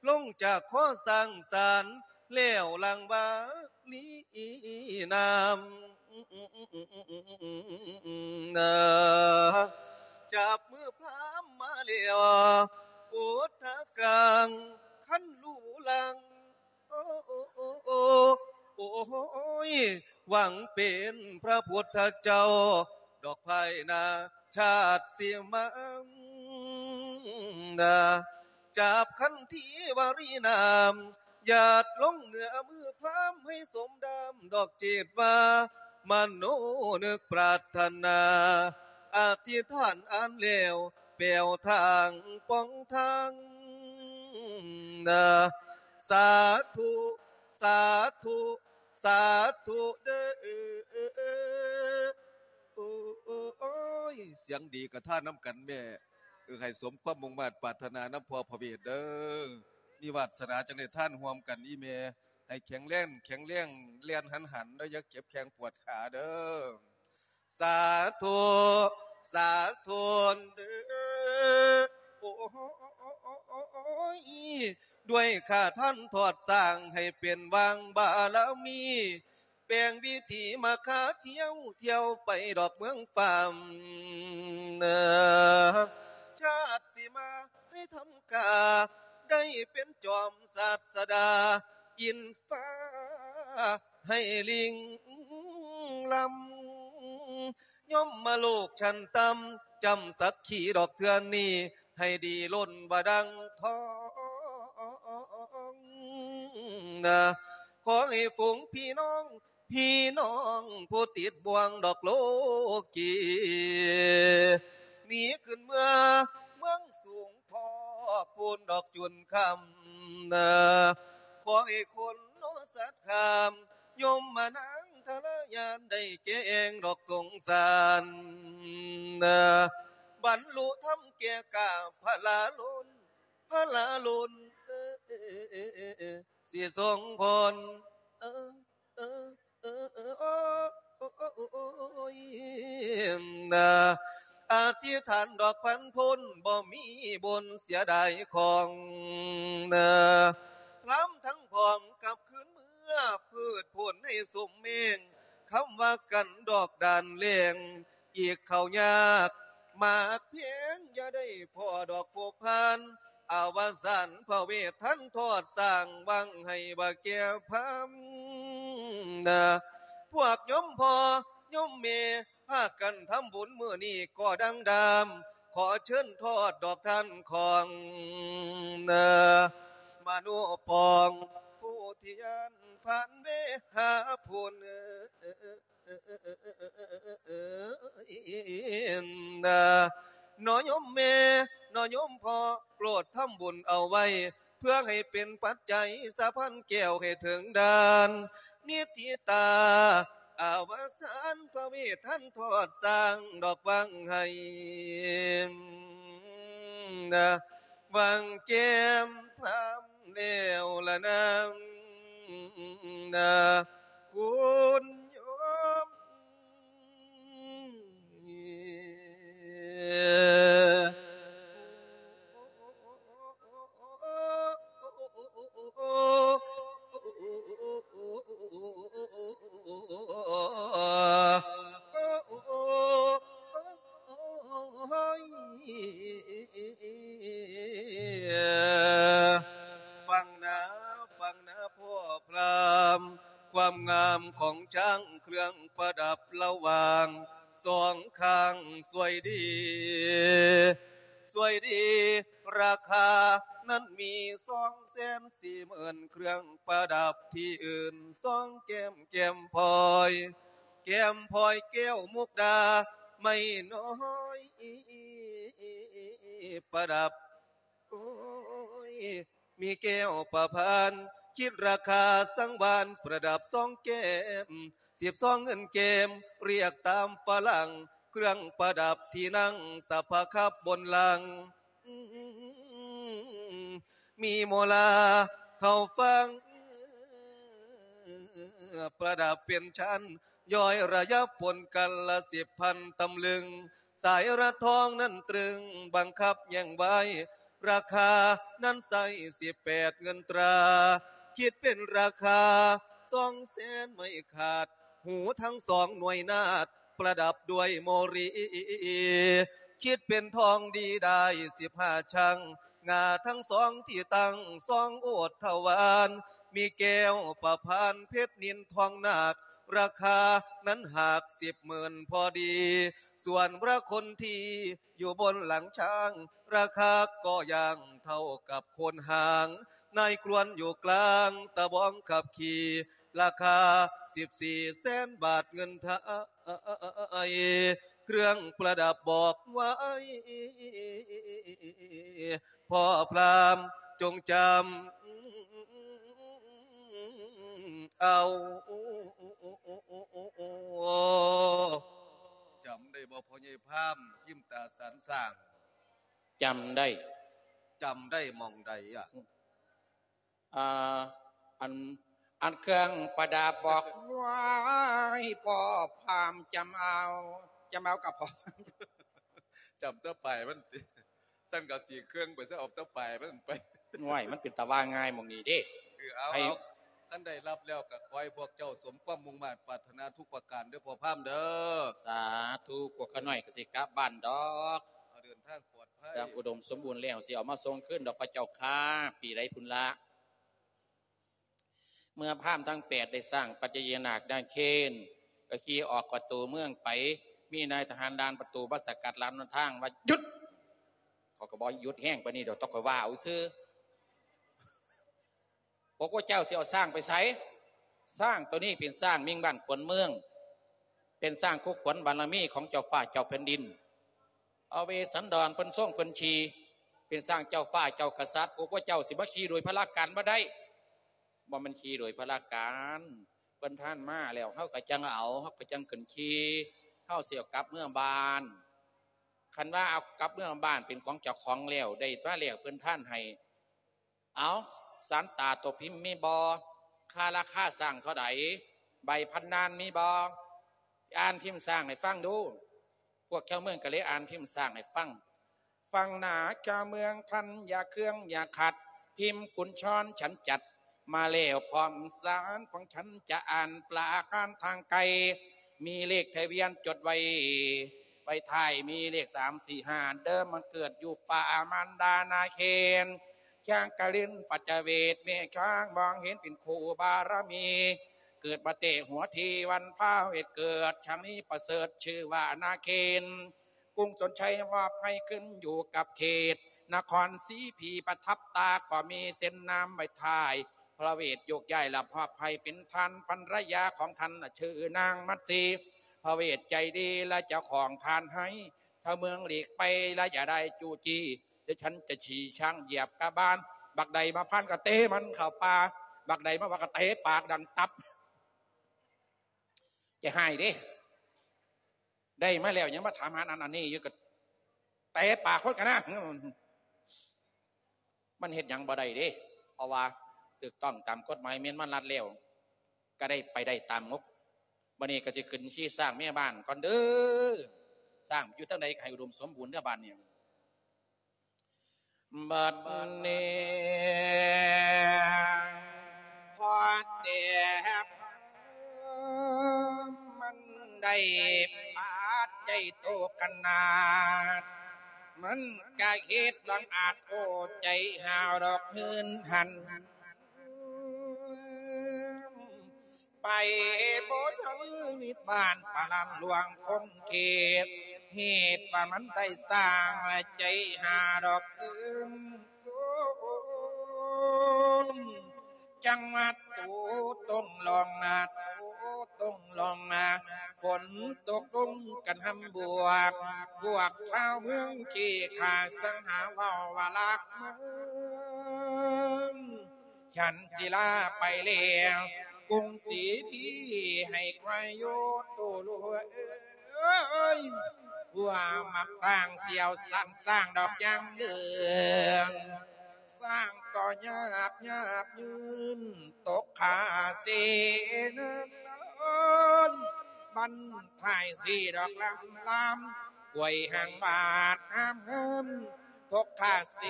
ລົງຈາກຫໍສ້າງສານ ແລ້ວຫຼັງວາລີນາມ ຈັບມືພາມມາແລ້ວ ໂອດທະກາງ ຄັນລູລັງ ໂອ ໂອ ໂອ ໂອ ໂອຍ ຫວັງເປັນພະພຸດທະເຈົ້າ ດອກພາຍໜ້າ ຊາດຊິມາ ຈັບຂັນທີວາລີນາມ ຢາດລົງເໜືອມືພາມ ໃຫ້ສົມດາມດອກຈິດວ່າ ມະໂນນຶກປາດຖະໜາ ອະທິຖານອ່ານແລ້ວ ແປວທາງປ່ອງທາງ ສາທຸ ສາທຸ ສາທຸເດີ. ໂອ້ຍ ສຽງດີກະທານນຳກັນແມ່. ເອີ ໃຫ້ສົມຄວາມມຸ່ງມາດປາດຖະໜານຳພໍ່ພະເວດເດີ. ມີວາດສະໜາຈັ່ງໄດ້ທານຮ່ວມກັນອີ່ແມ່. ໃຫ້ແຂງແຮງ ແຂງແຮງ ແລ່ນຫັນໆ ເດີ ຢ່າເຈັບແຂ້ງປວດຂາເດີ. ສາທຸ ສາທຸເດີ ໂອ້ຍ ດ້ວຍຂ້າທ່ານທອດສ້າງໃຫ້ເປັນຫວ່າງບາລະມີ ແປງວິຖີມາຄາທ່ຽວ ທ່ຽວໄປດອກເມືອງຟ້າ ຊາດຊິມາໃຫ້ທຳກາ ໄດ້ເປັນຈອມສາດສະດາ ອິນຟ້າໃຫ້ລິງລຳ ຍົມມະໂລກຊັ້ນຕ່ຳ ຈຳສັກຂີດອກເທື່ອນີ້ ໃຫ້ດີລົ້ນວ່າດັ່ງທອງ ຂໍໃຫ້ຝູງພີ່ນ້ອງ ພີ່ນ້ອງຜູ້ຕິດບ່ວງດອກໂລກີ ໜີຂຶ້ນເມືອເມືອງສູງ ພອກພູນດອກຈຸນຄຳ ຂໍໃຫ້ຄົນໂນສັດຄາມ ຍົມມະນາງທະລະຍານໄດ້ແຈ້ງດອກສົງສານ ບັນລຸທຳແກ່ກ້າພະລາລົ້ນ ພະລາລົ້ນ ຊິສົ່ງຜົນ ເອີ ເອີ ເອີ ເອີ ໂອ້ຍ ນາ ອະທິຖານດອກພັນພົນ ບໍ່ມີບຸນເສຍດາຍຂອງ ນາ ພຣາມທັງພ້ອມກັບຄືນເມືອ ພືດຜົນໃຫ້ສົມແມງ ຄຳວ່າກັນດອກດານແລງ ອີກເຂົ້າຍາກ ໝາກແພງ ຢ່າໄດ້ພໍ້ດອກພົບຜ່ານ ອາວະສານພະເວດທັນທອດສ້າງ ຫວັງໃຫ້ວ່າແກ່ພາມນາ ພວກໂຍມພໍ່ໂຍມແມ່ ພາກັນທຳບຸນມື້ນີ້ກໍດັ່ງດາມ ຂໍເຊີນທອດດອກທານຂອງນາ ມະໂນປອງ ຜູ້ທີ່ຢ້ານຜ່ານເວຫາພຸ້ນ ນາ ໜໍໂຍມແມ່ ໜໍໂຍມພໍ່ ໂປດທຳບຸນເອົາໄວ້ ເພື່ອໃຫ້ເປັນປັດໄຈສະພັນແກ້ວໃຫ້ເຖິງດ່ານ ນິດທິຕາ ອາວະສານພະເວດທັນທອດສ້າງດອກຫວັງໃຫ້ ນາ ຫວັງແກ້ມພາມແລ້ວລະນາ ນາ ຄຸນໂຍມ. ຟັງນາ ຟັງນາພໍ່ພຣາມ ຄວາມງາມຂອງຊ້າງ ເຄື່ອງປະດັບລະຫວ່າງສອງຂ້າງ ສວຍດີ ສວຍດີ ລາຄານັ້ນມີສອງແສນສີ່ໝື່ນ ເຄື່ອງປະດັບທີ່ອື່ນສອງແກ້ມ ແກ້ມພອຍ ແກ້ມພອຍແກ້ວມຸກດາ ໄມ້ນ້ອຍປະດັບ ໂອ້ຍ ມີແກ້ວປະພານ ຄິດລາຄາສັງວານ ປະດັບສອງແກ້ມ ສິບສອງເງິນແກ້ມ ລຽກຕາມຝຣັ່ງ ເຄື່ອງປະດັບທີ່ນັ່ງ ສັບພະຂັບບົນຫຼັງ ມີໂມລາເຂົ້າຟັງ ປະດັບເປັນຊັ້ນ ຍ້ອຍລະຍັບປົນກັນລະສິບພັນຕຳລຶງ ສາຍລັດທອງນັ້ນຕຶງ ບັງຄັບແຍ່ງໄວ້ ລາຄານັ້ນໃຊ້ສິບແປດເງິນຕາ ຄິດເປັນລາຄາສອງແສນໄມ້ຂາດ ຫູທັງສອງໜ່ວຍນາດ ປະດັບດ້ວຍໂມລີ ຄິດເປັນທອງດີໄດ້ສິບຫ້າຊັ່ງ ງາທັງສອງທີ່ຕັ້ງສອງໂອດຖະຫວານ ມີແກ້ວປະພານເພັດນິນທອງນາກ ລາຄານັ້ນຫາກສິບໝື່ນພໍດີ ສ່ວນລະຄົນທີ່ຢູ່ບົນຫຼັງຊ້າງ ລາຄາກໍຢ່າງເທົ່າກັບໂຄນຫາງ ນາຍຄວນຢູ່ກລາງຕະບອງຂັບຂີ່ ລາຄາສິບສີ່ແສນບາດເງິນໄທ ເຄື່ອງປະດັບບອກໄວ້ ພໍ່ພຣາມຈົ່ງຈຳເອົາ. ຈຳໄດ້ບໍ່ ພໍ່ໃຫຍ່ພາມ ຍິ້ມຕາສານສ້າງ? ຈຳໄດ້ ຈຳໄດ້ໝ່ອງໃດອະ? ອ່າ ອັນ ອັນເຄື່ອງປະດັບບອກ ວ້າຍ ພໍ່ພາມຈຳເອົາ ຈຳເອົາກັບພໍ່ ຈຳແຕ່ປາຍມັນຕິ ຊັ້ນກໍສີເຄື່ອງໄປຊະ ເອົາແຕ່ປາຍມັນໄປ ໂອ້ຍ ມັນເປັນຕາວ່າງ່າຍໝ່ອງນີ້ເດ້ ຄືເອົາ ໃຫ້ ເອົາ ຄັນໄດ້ຮັບແລ້ວກໍຂໍໃຫ້ພວກເຈົ້າສົມຄວາມມຸ່ງມາດປາດຖະໜາທຸກປະການເດີພໍ່ພາມເດີ ສາທຸ ພວກຂ້ານ້ອຍກໍຊິກັບບ້ານດອກ ເດີນທາງປອດ ເຄື່ອງອຸດົມສົມບູນແລ້ວ ຊິເອົາມາສົ່ງຄືນດອກພະເຈົ້າຂ້າ ປີໃດພຸ້ນລະ. ເມື່ອພາມທັງແປດໄດ້ສ້າງປັດຈະເຍນາກນາເຄນ ກໍຂີ່ອອກປະຕູເມືອງໄປ ມີນາຍທະຫານດ່ານປະຕູມາສະກັດລັດຫົນທາງວ່າ ຢຸດ! ເຂົາກໍບໍ່ຢຸດແຮງປານນີ້ດອກ ຕ້ອງຂ້ອຍວ່າເອົາຊື່. ພວກເຈົ້າຊິເອົາຊ້າງໄປໃສ? ຊ້າງໂຕນີ້ເປັນຊ້າງມິ່ງບ້ານຂວັນເມືອງ ເປັນຊ້າງຄູ່ຂວັນບາລະມີຂອງເຈົ້າຟ້າເຈົ້າແຜ່ນດິນ ອະເວສັນດອນເພິ່ນຊົງເພິ່ນຂີ່ ເປັນຊ້າງເຈົ້າຟ້າເຈົ້າກະສັດ ພວກເຈົ້າຊິມາຂີ່ໂດຍພະລາການບໍ່ໄດ້ ບໍ່ແມ່ນຂີ່ໂດຍພະລາການ ເພິ່ນທານມາແລ້ວ ເຮົາກໍຈັ່ງເອົາ ເຮົາກໍຈັ່ງຂຶ້ນຂີ່ ເຮົາຊິເອົາກັບເມືອບ້ານ ຄັນວ່າເອົາກັບເມືອບ້ານເປັນຂອງເຈົ້າຂອງແລ້ວ ໄດ້ມາແລ້ວເພິ່ນທານໃຫ້ ເອົາ ສານຕາໂຕພິມມີບໍ່? ຄ່າລາຄາສ້າງເທົ່າໃດ? ໃບພັນນານມີບໍ່? ອ່ານພິມສ້າງໃຫ້ຟັງດູ. ພວກຊາວເມືອງກໍເລີຍອ່ານພິມສ້າງໃຫ້ຟັງ. ຟັງໜ້າຊາວເມືອງທ່ານ ຢ່າເຄືອງຢ່າຂັດ, ພິມກຸນຊອນສັນຈັດ ມາແລ້ວພ້ອມສານ ຂອງສັນຈະອ່ານປະການທາງໄກ. ມີເລກທະບຽນຈົດໄວ້ ໄວ້ທ້າຍມີເລກສາມ ສີ່ ຫ້າ ເດີມມັນເກີດຢູ່ປ່າມານດານາເຂດ ຈາກກະລິນປັດຈະເວດ ແມ່ຊ້າງມອງເຫັນເປັນຄູ່ບາລະມີ ເກີດມາແຕ່ຫົວທີ່ວັນພາເວດເກີດ ຊ່າງມີປະເສີດຊື່ວ່ານາເຂດ ກຸງຊົນໄຊມອບໃຫ້ຂຶ້ນຢູ່ກັບເຂດ ນະຄອນສີພີປະທັບຕາ ກໍມີເສັ້ນນາມໄວ້ທ້າຍ ພະເວດໂຍກຍ້າຍລະມອບໃຫ້ເປັນທ່ານພັນລະຍາຂອງທ່ານ ຊື່ນາງມັດສີ ພະເວດໃຈດີລະເຈົ້າຂອງທ່ານໃຫ້ ຖ້າເມືອງຫຼີກໄປລະຢ່າໄດ້ຈູ້ຈີ້ ດຽວສັນຈະຂີ່ຊ້າງຢຽບກະບານ ບັກໃດມາຜ່ານກໍເຕະມັນເຂົ້າປ່າ ບັກໃດມາວ່າກໍເຕະປາກດັງຕັບ. ຈະຮ້າຍເດ້ ໄດ້ມາແລ້ວຍັງມາຖາມຫາອັນນັ້ນອັນນີ້ຢູ່ ກໍເຕະປາກຄົນກັນນະ ມັນເຮັດຫຍັງບໍ່ໄດ້ເດ້ ເພາະວ່າຖືກຕ້ອງຕາມກົດໝາຍແມ່ນມາລັດແລ້ວ ກໍໄດ້ໄປໄດ້ຕາມງົບ. ບັດນີ້ກໍຊິຂຶ້ນຂີ່ຊ້າງເມຍບ້ານກ່ອນເດີ ຊ້າງຢູ່ທາງໃດກໍໃຫ້ອຸດົມສົມບູນເດີບ້ານນີ້. ບັດນີ້ພໍແຕ່ມັນໄດ້ປາດໃຈໂຕຂະໜາດ ມັນກະເຮັດລອງອາດໂອໃຈຫາວດອກເຮືອນຫັ້ນ ໄປບໍ່ທັນມິດບ້ານປາລານຫຼວງຄົງເຂດ ເຫດວ່າມັນໄດ້ສ້າງໃຈຫາດອກເສີມໂສມ ຈັງຫວັດຕູຕົງລອງນາ ຕູຕົງລອງນາ ຝົນຕົກລົງກັນຫຳບວກ ບວກຊາວເມືອງຂີ້ຂ້າສັງຫາເວົ້າວ່າລາກເມືອງ ສັນຊິລາໄປແລ້ວ ກຸງສີພີໃຫ້ຄວາຍຢູ່ໂຕລູກເອີຍ ຜົວມັກຕ່າງສຽວສັນສ້າງດອກຍາງເດືອງ ສ້າງກໍຍາກຍາບຍືນຕົກຂາເສນ ບັນທ້າຍສີດອກລຳລຳ ກວຍຫາງບາດງາມງາມ ຕົກຂາເສ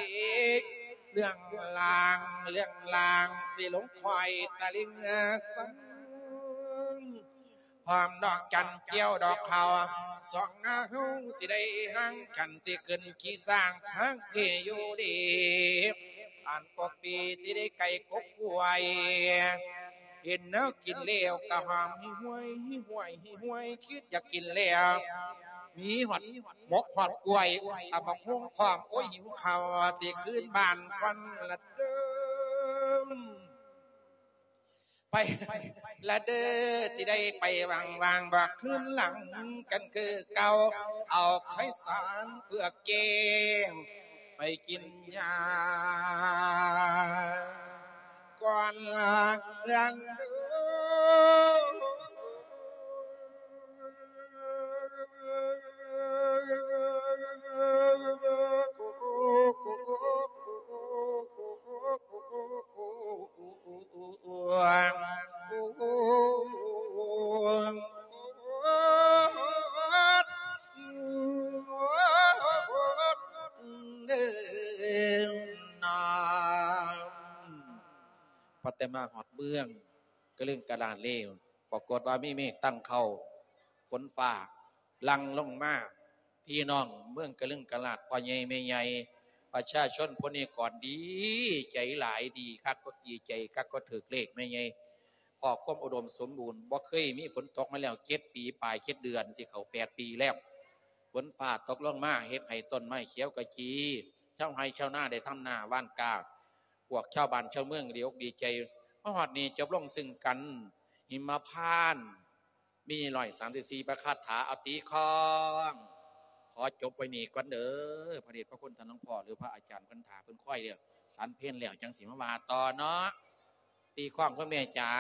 ກເລື່ອງລາງເລື່ອງລາງ ຊິລົງຄອຍຕະລິງສັງ ພ້ອມດອກຈັນກ່ຽວດອກເຂົ້າ ສອງນາເຮົາຊິໄດ້ຫາງກັນ ຊິຂຶ້ນຂີ່ຊ້າງທາງເກຢູ່ດີ ອັນກກປີທີ່ໄດ້ໄກ່ກົກກວຍ ເຫັນແນວກິນແລ້ວກະຫອມຫິຫ້ວຍຫິຫ້ວຍຫິຫ້ວຍ ຄິດຢາກກິນແລ້ວ ມີຮອດໝົກຮອດກ້ວຍ ຕຳບັກຫຸ່ງພ້ອມ ໂອ້ຍ ຫິວເຂົ້າ ຊິຄືນບ້ານກ່ອນລະເດີ ໄປລະເດີ ຊິໄດ້ໄປຫວັງຫວ່າງ ບໍ່ຄືນຫຼັງກັນຄືເກົ່າ ເອົາໄພສານເຜືອກແກ້ວ ໄປກິນຢາກ່ອນລະເດີ. ພໍແຕ່ມາຮອດເມືອງກະລຶງກະລາດແລ້ວ ປາກົດວ່າມີເມກຕັ້ງເຂົ້າ ຝົນຟ້າຫຼັ່ງລົງມາ ພີ່ນ້ອງເມືອງກະລຶງກະລາດ ພໍ່ໃຫຍ່ແມ່ໃຫຍ່ ປະຊາຊົນພົນນິກອນດີໃຈຫຼາຍ ດີຄັກກໍດີໃຈຄັກກໍຖືກເລກແມ່ໃຫຍ່ ພໍຄວາມອຸດົມສົມບູນ ບໍ່ເຄີຍມີຝົນຕົກມາແລ້ວເຈັດປີປາຍ ເຈັດເດືອນ ຊິເຂົ້າແປດປີແລ້ວ ຝົນຟ້າຕົກລົງມາເຮັດໃຫ້ຕົ້ນໄມ້ຂຽວຂະຈີ ຊາວໄຮ່ຊາວນາໄດ້ທຳນາຫວ່ານກ້າ ພວກຊາວບ້ານຊາວເມືອງດີອົກດີໃຈ ມາຮອດນີ້ຈົບລົງຊຶ່ງກັນ ຫິມມະພານ ມີຮ້ອຍສາມສິບສີ່ພະຄາຖາ ເອົາຕີຄ້ອງ ຂໍຈົບໄວ້ນີ້ກ່ອນເດີ ພະເດດພະຄຸນທ່ານຫຼວງພໍ່ ຫຼື ພະອາຈານເພິ່ນຖ້າເພິ່ນຄອຍເດີ ສັນເພນແລ້ວຈັ່ງຊິມາວ່າຕໍ່ເນາະ ຕີຄ້ອງ ຄຸນແມ່ຈ໋າ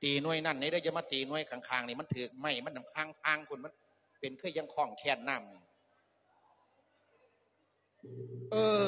ຕີໜ່ວຍນັ້ນນີ້ເດີ ຢ່າມາຕີໜ່ວຍຂ້າງໆນີ້ ມັນຖືກໄມ້ ມັນພັງໆພຸ້ນ ມັນເປັນຄືຍັງຄ້ອງແຄນນ້ຳນີ້ ເອີ